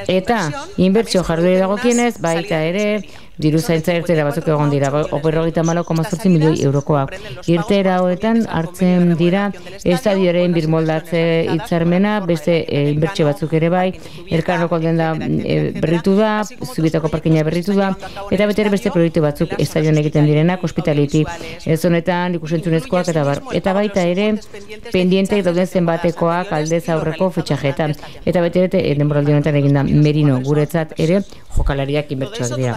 Eta inbertsio jardure dagokienez, baita ere diru zaintza irteera batzuk egon dira, 54,8 milioi eurokoak. Irteera hoetan hartzen dira estadioaren birmoldatze hitzarmena, beste inbertsio batzuk ere bai, Elkarroko denda berritu da, Zubitako parkina berritu da, eta beste proiektu batzuk estadioan egiten direnak, hospitality, ez honetan ikusentzunezkoak eta baita ere pendienteak dauden zenbatekoak aldez aurreko fitxajetan. Eta bete denboraldi honetan eginda Merino guretzat ere jokalariak inbertsioak dira.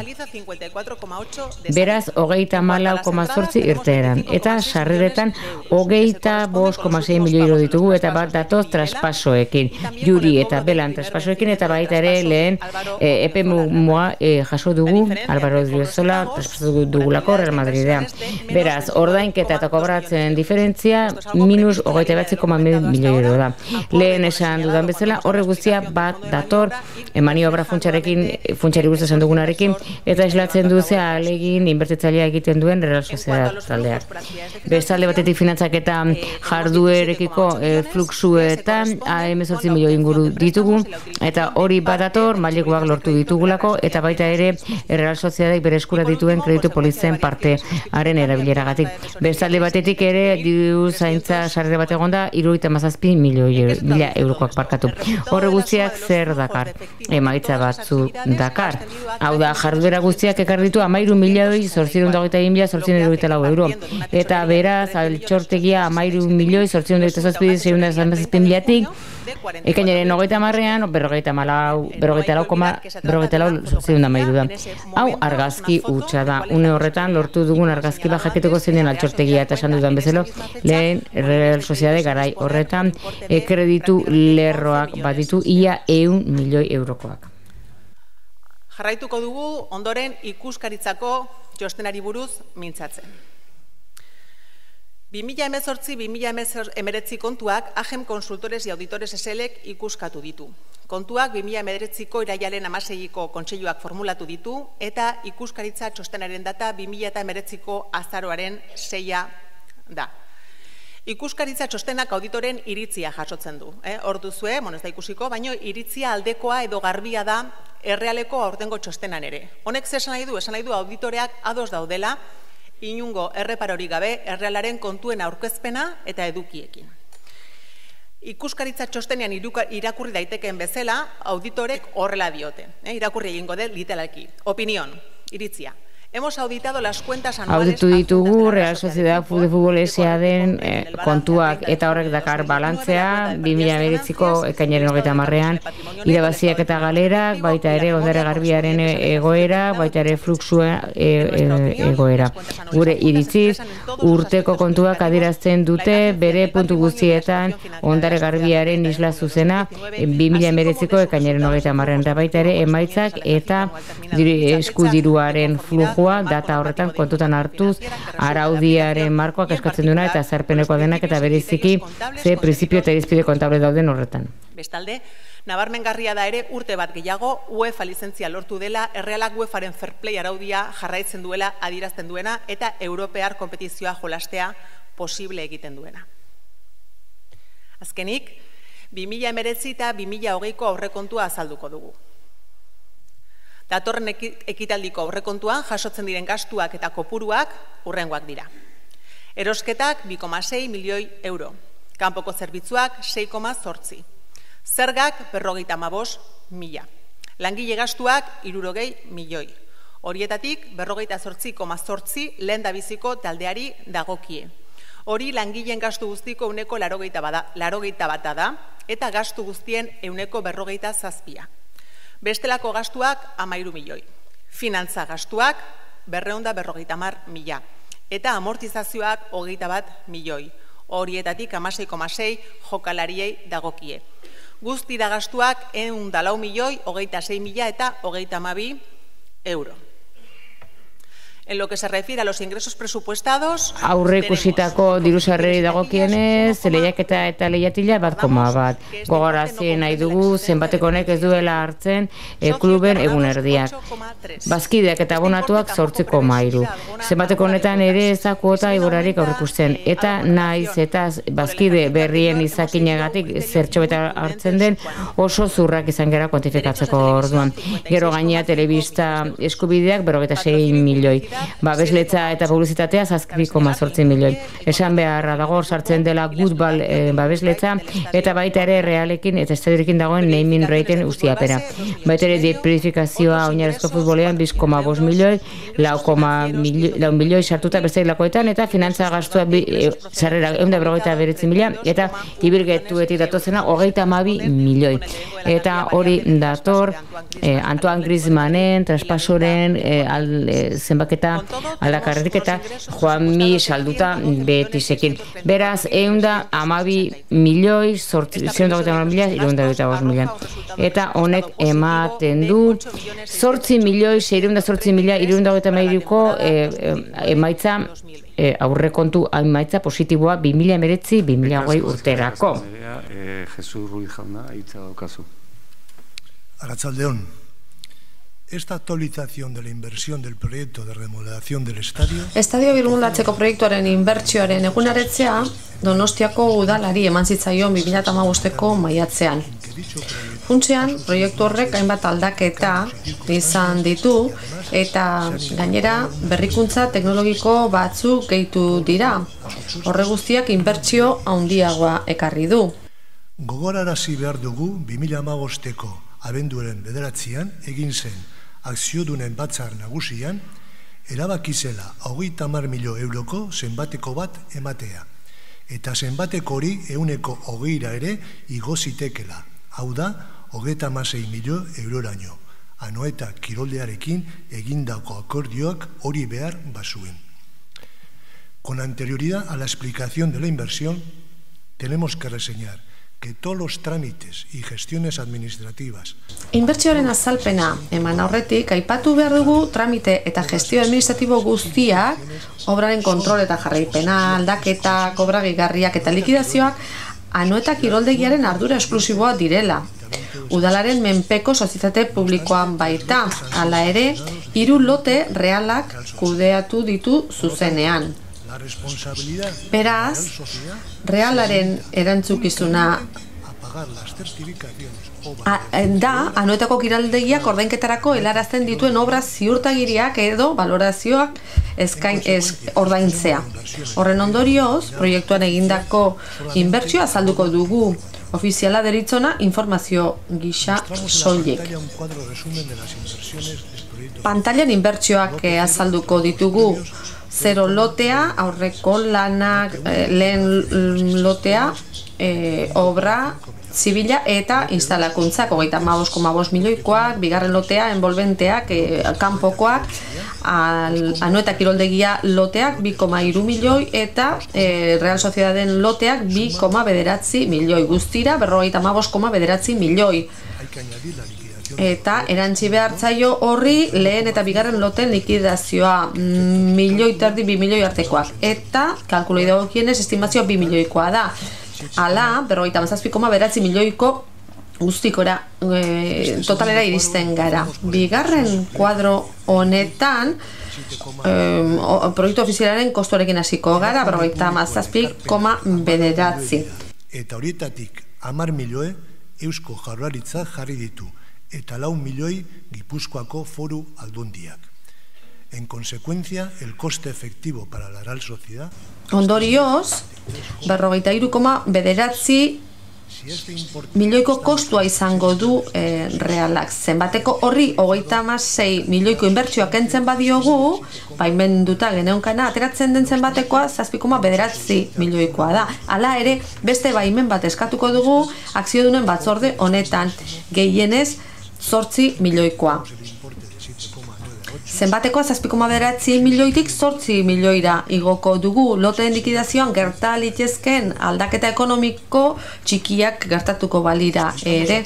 Beraz, 34,8 irteeran. Eta sarreretan 25,6 milioi euro ditugu eta bat datoz traspasoekin. Juri eta Belan traspasoekin eta baita ere lehen EPMUA jaso dugu, Álvaro Odriozola traspaso dugulako Real Madridea. Beraz, ordainketa eta kobratzen diferentzia minus 29,1 milioi euro da. Lehen esan dudan bezala, horre guztia bat dator maniobra funtsari guzti esan dugunarekin eta eslatzen duze alegin inbertitzailea egiten duen Real Sociedad taldeak. Bestalde batetik finantzaketa jarduerekiko fluxuetan 18 milioi inguru ditugu eta hori badator maileguak lortu ditugulako eta baita ere Real Sociedadek bere eskura dituen kreditu polizen partearen erabileragatik. Bestalde batetik ere diru zaintza sarrera bat egonda 77 milioi eurokoak parkatu. Horre guztiak zer dakar? Emaitza batzu dakar. Hau da, jarduera guztiak ekar ditu 13.822.874 euro. Eta beraz, altxortegia 13.822.677.000-tik, ekainaren 30-ean, 44,4 da. Hau argazki hutsa da. Une horretan, lortu dugun argazki jakiteko zeinen altxortegia eta esan dudan bezalo, lehen Real Sociedade garai horretan kreditu lerroak baditu ia 100 milioi eurokoak. Jarraituko dugu ondoren ikuskaritzako txostenari buruz mintzatzen. 2018-2019 kontuak AGEM Consultores y Auditores SLek ikuskatu ditu. Kontuak 2019ko irailaren 16ko kontseiluak formulatu ditu eta ikuskaritza txostenaren data 2019ko azaroaren 6 da. Ikuskaritza txostenak auditoren iritzia jasotzen du. Hor duzue, ez da ikusiko, baina iritzia aldekoa edo garbia da errealeko aurtengo txostenan ere. Honek esan nahi du auditoreak ados daudela, inungo erreparorik gabe errealaren kontuen aurkezpena eta edukiekin. Ikuskaritza txostenean irakurri daitekeen bezala, auditorek horrela diote. Irakurri egingo dut literalki. Opinión, iritzia. Hemos auditado las cuentas anuales. Auditu ditugu Real Sociedad de Fútbol S.A.den kontuak eta horrek dakar balantzea 2019ko ekainaren 30ean irabaziak eta galerak, baita ere ondare garbiaren egoera, baita ere fluxua egoera. Gure iritziz, urteko kontuak adierazten dute bere puntu guztietan ondare garbiaren isla zuzena 2019ko ekainaren 30ean da baita ere emaitzak eta eskudiruaren fluxu data horretan kontutan hartuz araudiaren markoak eskatzen duena eta zerpenekoa denak eta bereziki ze printzipio eta irizpide kontable dauden horretan. Bestalde, nabarmengarria da ere urte bat gehiago UEFA lizentzia lortu dela, errealak UEFaren fair play araudia jarraitzen duela adierazten duena eta europear konpetizioa jolastea posible egiten duena. Azkenik, 2019 eta 2020ko aurrekontua azalduko dugu. Datorren ekitaldiko aurrekontuan jasotzen diren gastuak eta kopuruak hurrengoak dira. Erosketak 2,6 milioi euro, kanpoko zerbitzuak 6,8, zergak 55.000, Langile gastuak 60 milioi. Horietatik 48,8 lehendabiziko taldeari dagokie. Hori langileen gastu guztiko 80% da, eta gastu guztien 47%. Bestelako gastuak 13 milioi. Finantza gastuak 250.000 eta amortizazioak 21 milioi. Horietatik 16,6 jokalariei dagokie. Guztira gastuak 104 milioi, 26.000 eta 32 euro. En lo que se refiere a los ingresos presupuestados, aurreikusitako diru-sarrerei dagokienez, lehiaketa eta lehiatila 1,1. Gogorarazi nahi dugu zenbateko honek ez duela hartzen kluben egunerdiak. Bazkideak eta abonatuak 8,3. Zenbateko honetan ere ez da kuota igorarik aurreikusten, eta naiz eta bazkide berrien izakinagatik zertxo beta hartzen den oso zurrak izan gara kuantifikatzeko orduan. Gero gainea telebista eskubideak 46 milioi. Babesletza eta publizitatea 7,8 milioi. Esan beharra dago sartzen dela Goodball babesletza eta baita ere Realekin eta Estadiorekin dagoen naming righten ustiapena. Baita ere deprifikazioa oinarrizko futbolean 2,5 milioi, 4 milioi sartuta beste lakoetan eta finantza gastua sarrera 149.000 eta ibilgetuetik datozena 32 milioi. Eta hori dator Antoine Griezmannen, traspasoren zenbaketa aldakarretik eta Juanmi salduta Betisekin. Beraz, 112 milioi, 125 milioi. Eta honek ematen du 8 milioi, 608.000 emaitza aurrekontu emaitza positiboa 2019-2020 urterako. Jesus Ruiz jauna, hitza daukazu. Arratsaldeon. Esta actualización de la inversión del proyecto de remodelación del estadio birmolatzeko proiektuaren inbertsioaren egunaretzea Donostiako udalari eman zitzaion 2015ko maiatzean. Funtsean, proiektu horrek hainbat aldaketa izan ditu eta gainera berrikuntza teknologiko batzuk gehitu dira. Horre guztiak inbertsio handiagoa ekarri du. Gogorarazi behar dugu 2015ko abenduaren 9 egin zen akziodunen batzar nagusian, erabaki zela 30 milioi euroko zenbateko bat ematea. Eta zenbateko hori 120 ere igo zitekela. Hau da, 36 milioi euroraino. Anoeta kiroldearekin egindako akordioak hori behar bazuen. Con anterioridad a la explicación de la inversión, tenemos que reseñar que todos los trámites y gestiones administrativas. Inbertsioaren azalpena eman aurretik aipatu behar dugu tramite eta gestio administratibo guztiak, obraren kontrol eta jarraipena, aldaketa, obra gehigarriak eta likidazioak Anoeta kiroldegiaren ardura esklusiboa direla. Udalaren menpeko sozietate publikoan baita, hala ere, 3 lote realak kudeatu ditu zuzenean. Beraz, realaren erantzukizuna da Anoetako kiroldegiak ordainketarako helarazten dituen obra ziurtagiriak edo valorazioak ordaintzea. Horren ondorioz, proiektuan egindako inbertsioa azalduko dugu. Ofiziala deritzona informazio gisa soilik. Pantailan inbertsioak azalduko ditugu. 0 lotea, aurreko lanak, lehen lotea, obra zibila eta instalakuntzak, 35,5 milioikoak, bigarren lotea, envolventeak, kanpokoak, Anoeta kiroldegia loteak 2,3 milioi eta Real Sociedaden loteak 2,9 milioi. Guztira 45,9 milioi. Eta erantzi behartzaio horri lehen eta bigarren loten likidazioa 1,5 milioi, 2 milioi artekoak. Eta kalkuloi dagokienez estimazioa 2 milioikoa da. Hala, 57,9 milioiko guztikora totalera iristen gara. Bigarren kuadro honetan proiektu ofizialaren kostuarekin hasiko gara, 57,9. Eta horietatik 10 milioi Eusko Jaurlaritza jarri ditu eta 4 milioi Gipuzkoako Foru Aldundiak. En consecuencia, el coste efectivo para la Real Sociedad... Ondorioz, 43,9 milioiko kostua izango du realak. Zenbateko horri 36 milioiko inbertsioa kentzen badiogu, baimenduta geneunkana, ateratzen den zenbatekoa 7,9 milioikoa da. Hala ere, beste baimen bat eskatuko dugu akziodunen batzorde honetan, gehienez 8 milioikoa. Zenbatekoa 7,9 milioitik 8 milioira igoko dugu. Loteen likidazioan gerta litezken aldaketa ekonomiko txikiak gertatuko balira ere.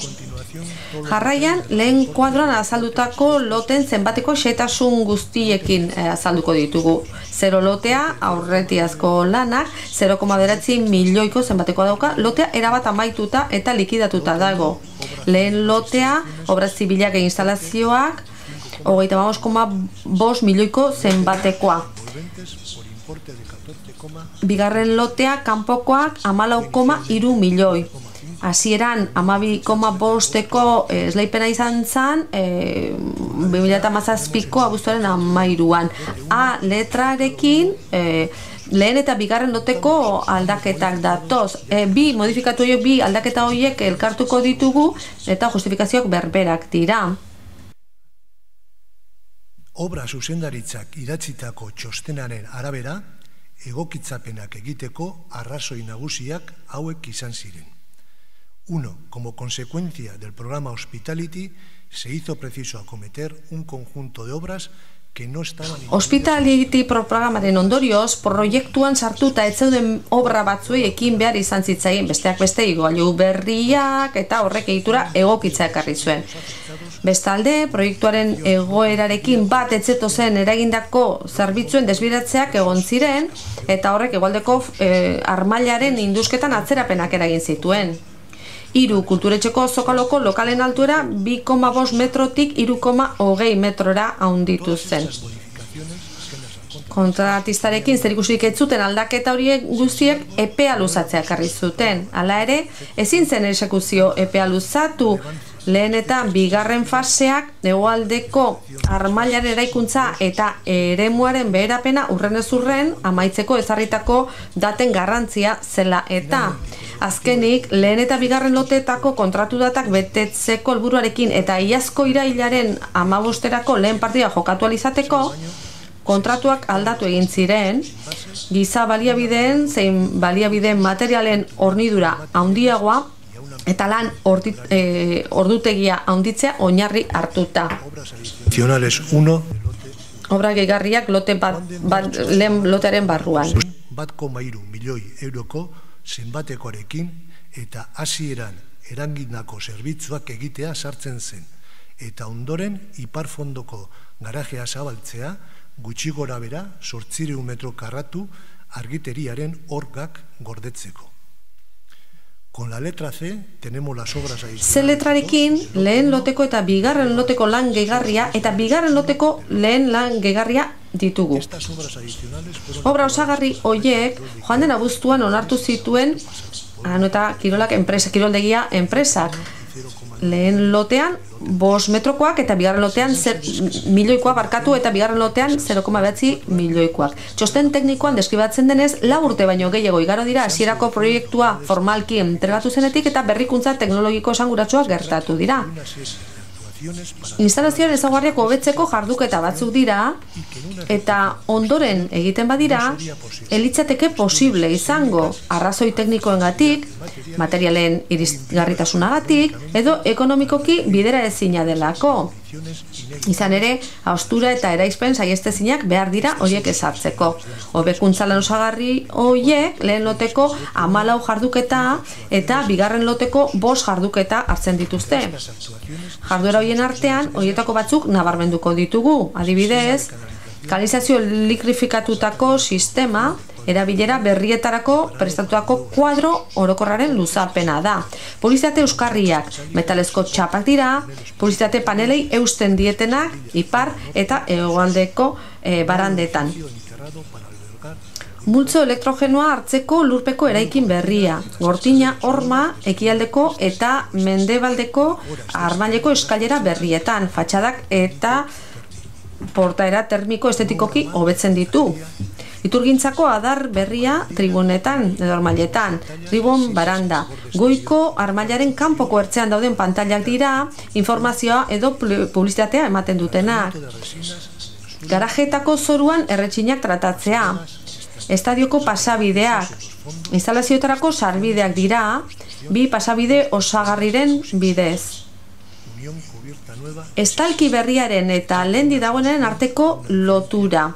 Jarraian, lehen kuadroan azaldutako loten zenbateko xehetasun guztiekin azalduko ditugu. 0 lotea, aurretiazko lanak, 0,9 milioiko zenbatekoa dauka, lotea erabat amaituta eta likidatuta dago. Lehen lotea, obra zibilak e instalazioak, 35,5 milioiko zenbatekoa. Bigarren lotea, kanpokoak, 14,3 milioi. Hasieran 12,5eko esleipena izan zen 2017ko abuztuaren 13an. A letrarekin lehen eta bigarren loteko aldaketak datoz. Bi modifikatu horiek, bi aldaketa horiek elkartuko ditugu eta justifikazioak berberak dira. Obra zuzendaritzak idatzitako txostenaren arabera, egokitzapenak egiteko arrazoi nagusiak hauek izan ziren. 1. Como consecuencia del programa Hospitality, se hizo preciso acometer un conjunto de obras que no estaban... Hospitality programaren ondorioz, proiektuan sartuta ez zeuden obra batzuei ekin behar izan zitzaien, besteak beste igailu berriak eta horrek egitura egokitza ekarri zuen. Bestalde, proiektuaren egoerarekin bat etzeto zen eragindako zerbitzuen desbiratzeak egon ziren eta horrek hegoaldeko armailaren indusketan atzerapenak eragin zituen. 3. Kulturetxeko zokaloko lokalen altuera 2,5 metrotik 3,20 metrora handitu zen. Kontratistarekin zerikusirik ez zuten aldaketa horiek guztiek epea luzatzea ekarri zuten. Hala ere, ezin zen exekuzio epea luzatu. Lehen eta bigarren faseak hegoaldeko armailaren eraikuntza eta eremuaren beherapena urrenez urren amaitzeko ezarritako daten garrantzia zela eta. Azkenik, lehen eta bigarren loteetako kontratu datak betetzeko helburuarekin eta iazko irailaren 15erako lehen partida jokatu alizateko, kontratuak aldatu egin ziren, giza baliabideen zein baliabideen materialen hornidura handiagoa eta lan ordutegia handitzea oinarri hartuta. Obra gehigarriak lehen lotearen barruan. 1,3 milioi euroko zenbatekoarekin eta hasieran erangindako zerbitzuak egitea sartzen zen. Eta ondoren iparfondoko garajea zabaltzea gutxi gora bera 800 metro karratu argiteriaren orgak gordetzeko. Con la letra C tenemos las obras adicionales. C letrarekin lehen loteko eta bigarren loteko lan gehigarria eta bigarren loteko lehen lan gehigarria ditugu. Obra osagarri horiek joan den abuztuan onartu zituen eta kirolak enpresa, kiroldegia enpresak. Lehen lotean 5 metrokoak eta bigarren lotean milioikoa barkatu eta bigarren lotean 0,9 milioikoak. Txosten teknikoan deskribatzen denez, 4 urte baino gehiago igaro dira hasierako proiektua formalki entregatu zenetik eta berrikuntza teknologiko esanguratsuak gertatu dira. Instalazioaren ezaugarriak hobetzeko jarduketa batzuk dira eta ondoren egiten badira elitzateke posible izango arrazoi teknikoengatik, materialen irisgarritasunagatik edo ekonomikoki bidera ezina delako. Izan ere, haustura eta eraispen saiestezinak behar dira horiek ezartzeko. Hobekuntza lan osagarri horiek lehen loteko 14 jarduketa eta bigarren loteko 5 jarduketa hartzen dituzte. Jarduera horien artean, horietako batzuk nabarmenduko ditugu. Adibidez, kanalizazio elektrifikatutako sistema, erabilera berrietarako prestatutako kuadro orokorraren luzapena da. Publizitate euskarriak, metalezko txapak dira, publizitate panelei eusten dietenak, ipar eta hegoaldeko barandetan. Multzo elektrogenoa hartzeko lurpeko eraikin berria, gortina, horma, ekialdeko eta mendebaldeko armaileko eskailera berrietan, fatxadak eta portaera termiko estetikoki hobetzen ditu. Iturgintzako adar berria tribunetan, edo armailetan, tribun baranda. Goiko armailaren kanpoko ertzean dauden pantailak dira, informazioa edo publizitatea ematen dutenak. Garajeetako zoruan erretxinak tratatzea. Estadioko pasabideak. Instalazioetarako sarbideak dira, bi pasabide osagarriren bidez. Estalki berriaren eta lehendi dagoenen arteko lotura.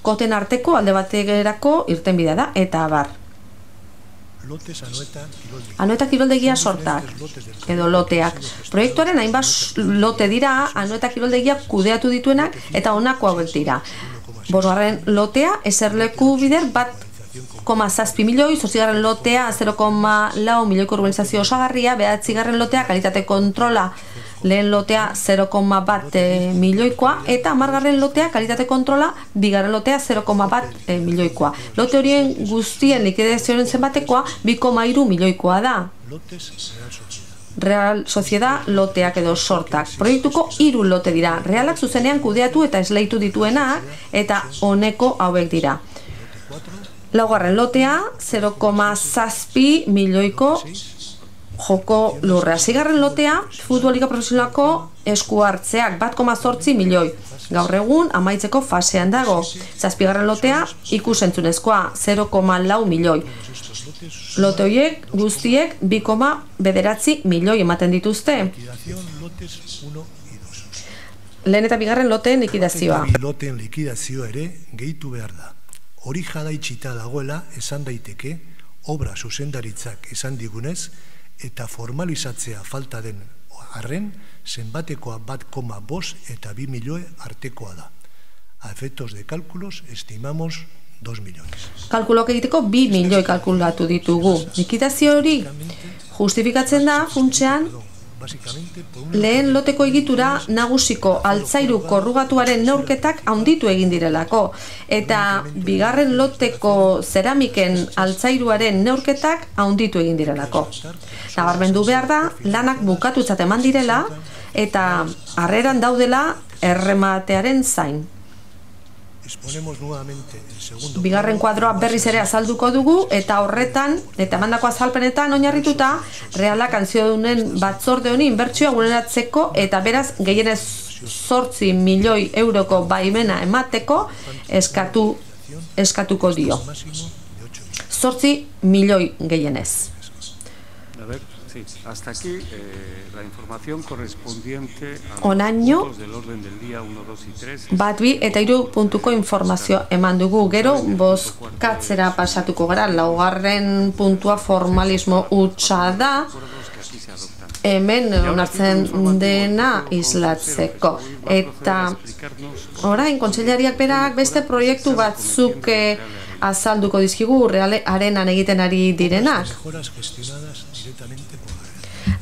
Koten arteko alde baterako irtenbidea da, eta abar. Anoeta kiroldegia sortak, edo loteak. Proiektuaren hainbat lote dira, Anoeta kiroldegia kudeatu dituenak, eta honako hauek dira. Bosgarren lotea, eserleku bider 1,7 milioi, 8. lotea 0,4 milioiko urbanizazio osagarria, 9. lotea kalitate kontrola, lehen lotea 0,1 milioikoa, eta 10. lotea kalitate kontrola, 2. lotea 0,1 milioikoa. Lote horien guztien likidazioaren zenbatekoa 2,3 milioikoa da. Real Sociedad loteak edo sortak. Proiektuko 3 lote dira. Realak zuzenean kudeatu eta esleitu dituenak, eta honeko hauek dira. 4. lotea 0,7 milioiko joko lurrea. 6. lotea futbolika profesionalako esku hartzeak 1,8 milioi. Gaur egun amaitzeko fasean dago. 7. lotea ikusentzunezkoa 0,4 milioi. Lote horiek guztiek 2,9 milioi ematen dituzte. Lehen eta 2. loteen likidazioa. Loteen likidazioa ere gehitu behar da. Hori jadaitxita dagoela esan daiteke, obra zuzendaritzak esan digunez, eta formalizatzea falta den arren, zenbatekoa 1,5 eta 2 milioi artekoa da. A efectos de cálculos, estimamos 2 millones. Kalkuloak egiteko 2 milioi kalkulatu ditugu. Likidazio hori justifikatzen da, funtsean, lehen loteko egitura nagusiko altzairu korrugatuaren neurketak handitu egin direlako, eta 2. loteko zeramiken altzairuaren neurketak handitu egin direlako. Nabarmendu behar da, lanak bukatutzat eman direla, eta harreran daudela errematearen zain. 2. kuadroa berriz ere azalduko dugu, eta horretan, eta emandako azalpenetan oinarrituta, Realak kanziodunen batzorde honi inbertsioa gureratzeko, eta beraz gehienez 8 milioi euroko baimena emateko eskatuko dio. 8 milioi gehienez. Hasta aquí la información correspondiente a Onaino, los del orden del día 1, 2 y 3. 1, 2 eta 3 puntuko informazio eman dugu. Gero bozkatzera pasatuko gara. 4. puntua formalismo hutsa da. Hemen onartzen dena islatzeko. Eta orain kontseilariak berak beste proiektu batzuk azalduko dizkigu Arenan egiten ari direnak.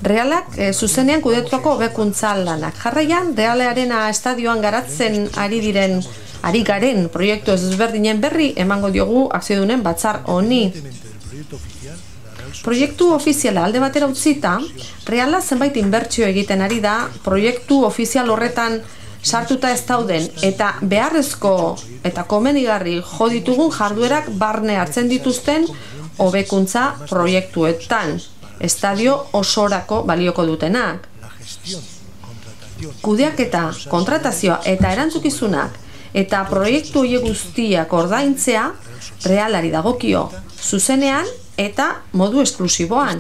Realak zuzenean kudetuako hobekuntza lanak. Jarraian, Arena estadioan garatzen ari garen proiektu ezberdinen berri emango diogu akziodunen batzar honi. Proiektu ofiziala alde batera utzita, Reala zenbait inbertsio egiten ari da, proiektu ofizial horretan sartuta ez dauden eta beharrezko eta komenigarri jo ditugun jarduerak barne hartzen dituzten hobekuntza proiektuetan. Estadio osorako balioko dutenak. Kudeaketa, kontratazioa eta erantzukizunak eta proiektu horiek guztiak ordaintzea Realari dagokio, zuzenean eta modu esklusiboan.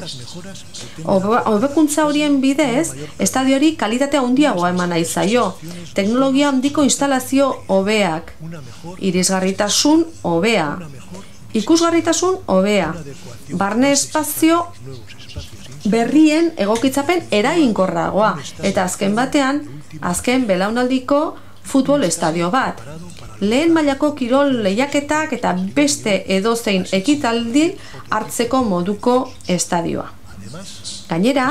Hobekuntza horien bidez, estadiori kalitatea handiagoa eman nahi zaio, teknologia handiko instalazio hobeak, irisgarritasun hobea, ikusgarritasun hobea, barne espazio berrien egokitzapen eraginkorragoa, eta azken batean, azken belaunaldiko futbol estadio bat. Lehen mailako kirol lehiaketak eta beste edozein ekitaldi hartzeko moduko estadioa. Gainera,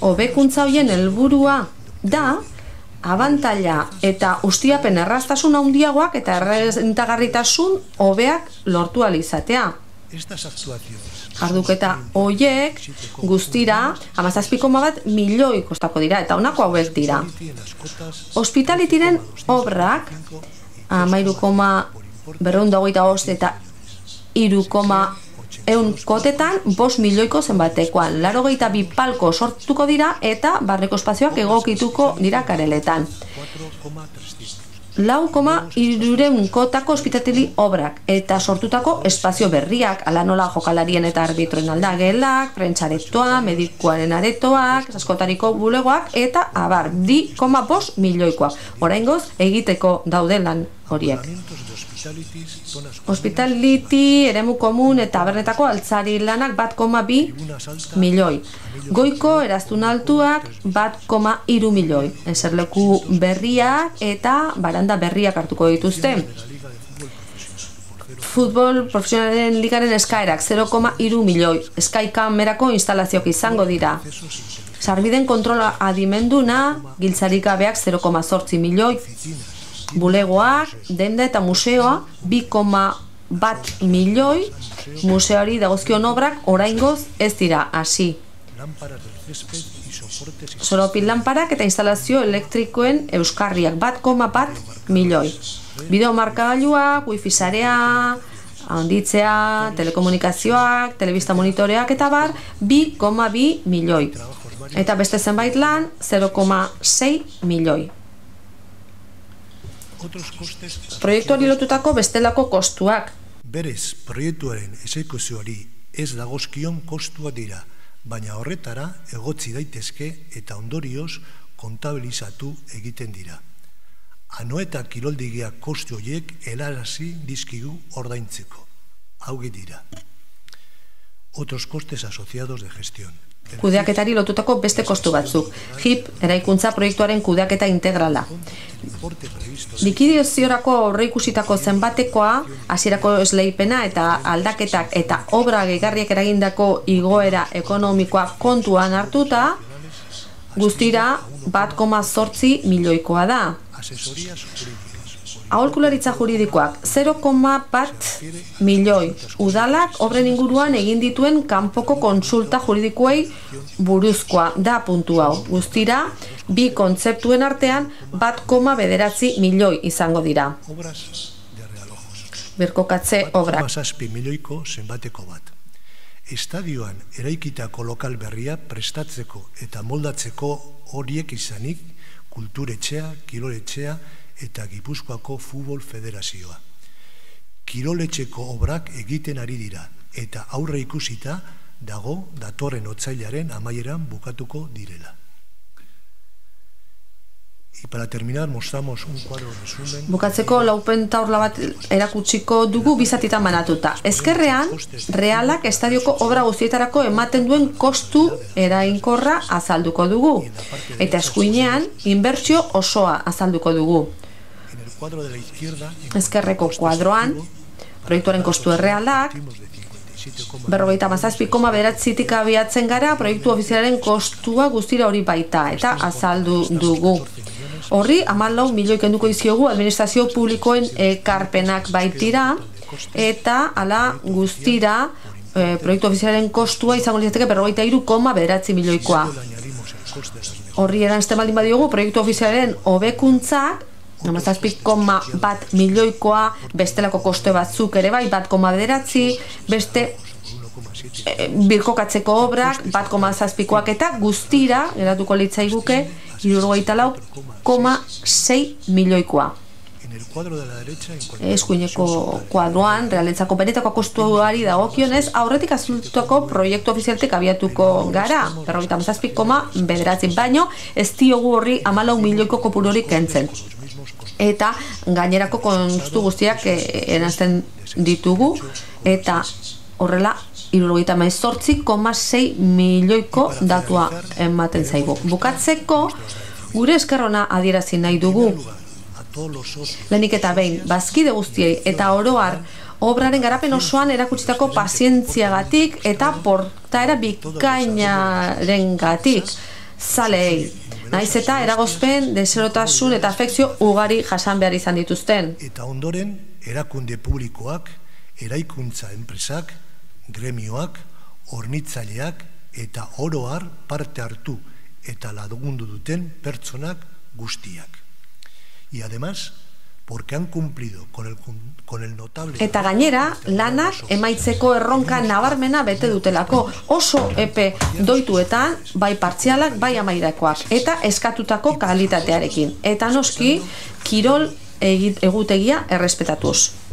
hobekuntza horien helburua da abantaila eta ustiapen erraztasun handiagoak eta errentagarritasun hobeak lortu ahal izatea. Jarduketa horiek guztira 17,1 milioi kostako dira eta honako hauek dira. Hospitalitiren obrak 13,2 225 eta 3,1 kotetan 5 milioiko zenbatekoan. 82 palko sortuko dira eta barneko espazioak egokituko dira kareletan. 4,3 kotako ospitatili obrak eta sortutako espazio berriak, ala nola jokalarien eta arbitroen aldagelak, prentxaretoa, medikuaren aretoak, askotariko bulegoak eta abar, 2,5 milioikoak. Oraingoz egiteko daude lan horiek. Hospitality, eremu komun eta abernetako altzari lanak 1,2 milioi. Goiko eraztun altuak 1,3 milioi. Eserleku berriak eta baranda berriak hartuko dituzte. Futbol profesionalen ligaren eskaerak 0,3 milioi. Sky kamerako instalazioak izango dira. Sarbiden kontrola adimenduna, giltzarik gabeak 0,8 milioi. Bulegoak, denda eta museoa 2,1 milioi, museoari dagozkion obrak oraingoz ez dira hasi. Soropil lanparak eta instalazio elektrikoen euskarriak 1,1 milioi. Bideo markagailuak, wifi sarea, handitzea, telekomunikazioak, telebista monitoreak eta bar 2,2 milioi. Eta beste zenbait lan 0,6 milioi. Proiektuari lotutako bestelako kostuak. Berez, proiektuaren exekuzioari ez dagozkion kostua dira, baina horretara egotzi daitezke eta ondorioz kontabilizatu egiten dira. Ano eta kiroldigiak kostu horiek helarazi dizkigu ordaintzeko. Hauge dira. Otros costes asociados de gestión. Kudeaketari lotutako beste kostu batzuk. HIP, eraikuntza proiektuaren kudeaketa integrala. Likidazioarako aurreikusitako zenbatekoa, hasierako esleipena eta aldaketak eta obra gehigarriak eragindako igoera ekonomikoa kontuan hartuta, guztira 1,8 milioikoa da. Aholkularitza juridikoak 0,1 milioi. Udalak obren inguruan egin dituen kanpoko kontsulta juridikoei buruzkoa da puntu hau. Guztira, bi kontzeptuen artean 1,9 milioi izango dira. Birkokatze obrak. 1,7 milioiko zenbateko bat. Estadioan eraikitako lokal berria prestatzeko eta moldatzeko horiek izanik, kulturetxea, kiroletxea, eta Gipuzkoako Futbol Federazioa. Kiroletxeko obrak egiten ari dira, eta aurre ikusita dago datorren otsailaren amaieran bukatuko direla. Y para terminar mostramos un cuadro resumen. Bukatzeko laupentaurla bat erakutsiko dugu bizatitan banatuta. Ezkerrean, Realak estadioko obra guztietarako ematen duen kostu erainkorra azalduko dugu. Eta eskuinean, inbertsio osoa azalduko dugu. Ezkerreko kuadroan, proiektuaren kostu errealak, 57,9tik abiatzen gara, proiektu ofizialaren kostua guztira hori baita, eta azaldu dugu. Horri, 14 milioi kenduko izkiogu administrazio publikoen ekarpenak baitira, eta ala guztira proiektu ofizialaren kostua izango litzateke 53,9 milioikoa. Horri eranzten baldin badiogu, proiektu ofizialaren hobekuntzak 17,1 milioikoa, bestelako koste batzuk ere bai, 1,9, beste birkokatzeko obrak, 1,7koak eta guztira, geratuko litzaiguke, 74,6 milioikoa. Eskuineko kuadroan, realentzako benetako kostuari dagokionez, aurretik azultuko proiektu ofizialtek abiatuko gara, 57,9, baino ez diogu horri 14 milioiko kopurorik kentzen. Eta gainerako kostu guztiak eranzten ditugu, eta horrela 78,6 milioiko datua ematen zaigu. Bukatzeko, gure eskerrona adierazi nahi dugu. Lehenik eta behin, bazkide guztiei eta oroar obraren garapen osoan erakutsitako pazientziagatik eta portaera bikainaren gatik. Zaleei, naiz eta eragozpen, deserotasun eta afekzio ugari jasan behar izan dituzten. Eta ondoren, erakunde publikoak, eraikuntza enpresak, gremioak, hornitzaileak eta oroar parte hartu eta lagundu duten pertsonak guztiak. Y además, porque han cumplido con el notable... Eta gainera, lanak emaitzeko erronka nabarmena bete dutelako, oso epe doituetan, bai partzialak, bai amairakoak, eta eskatutako kalitatearekin. Eta noski, kirol egutegia errespetatuz.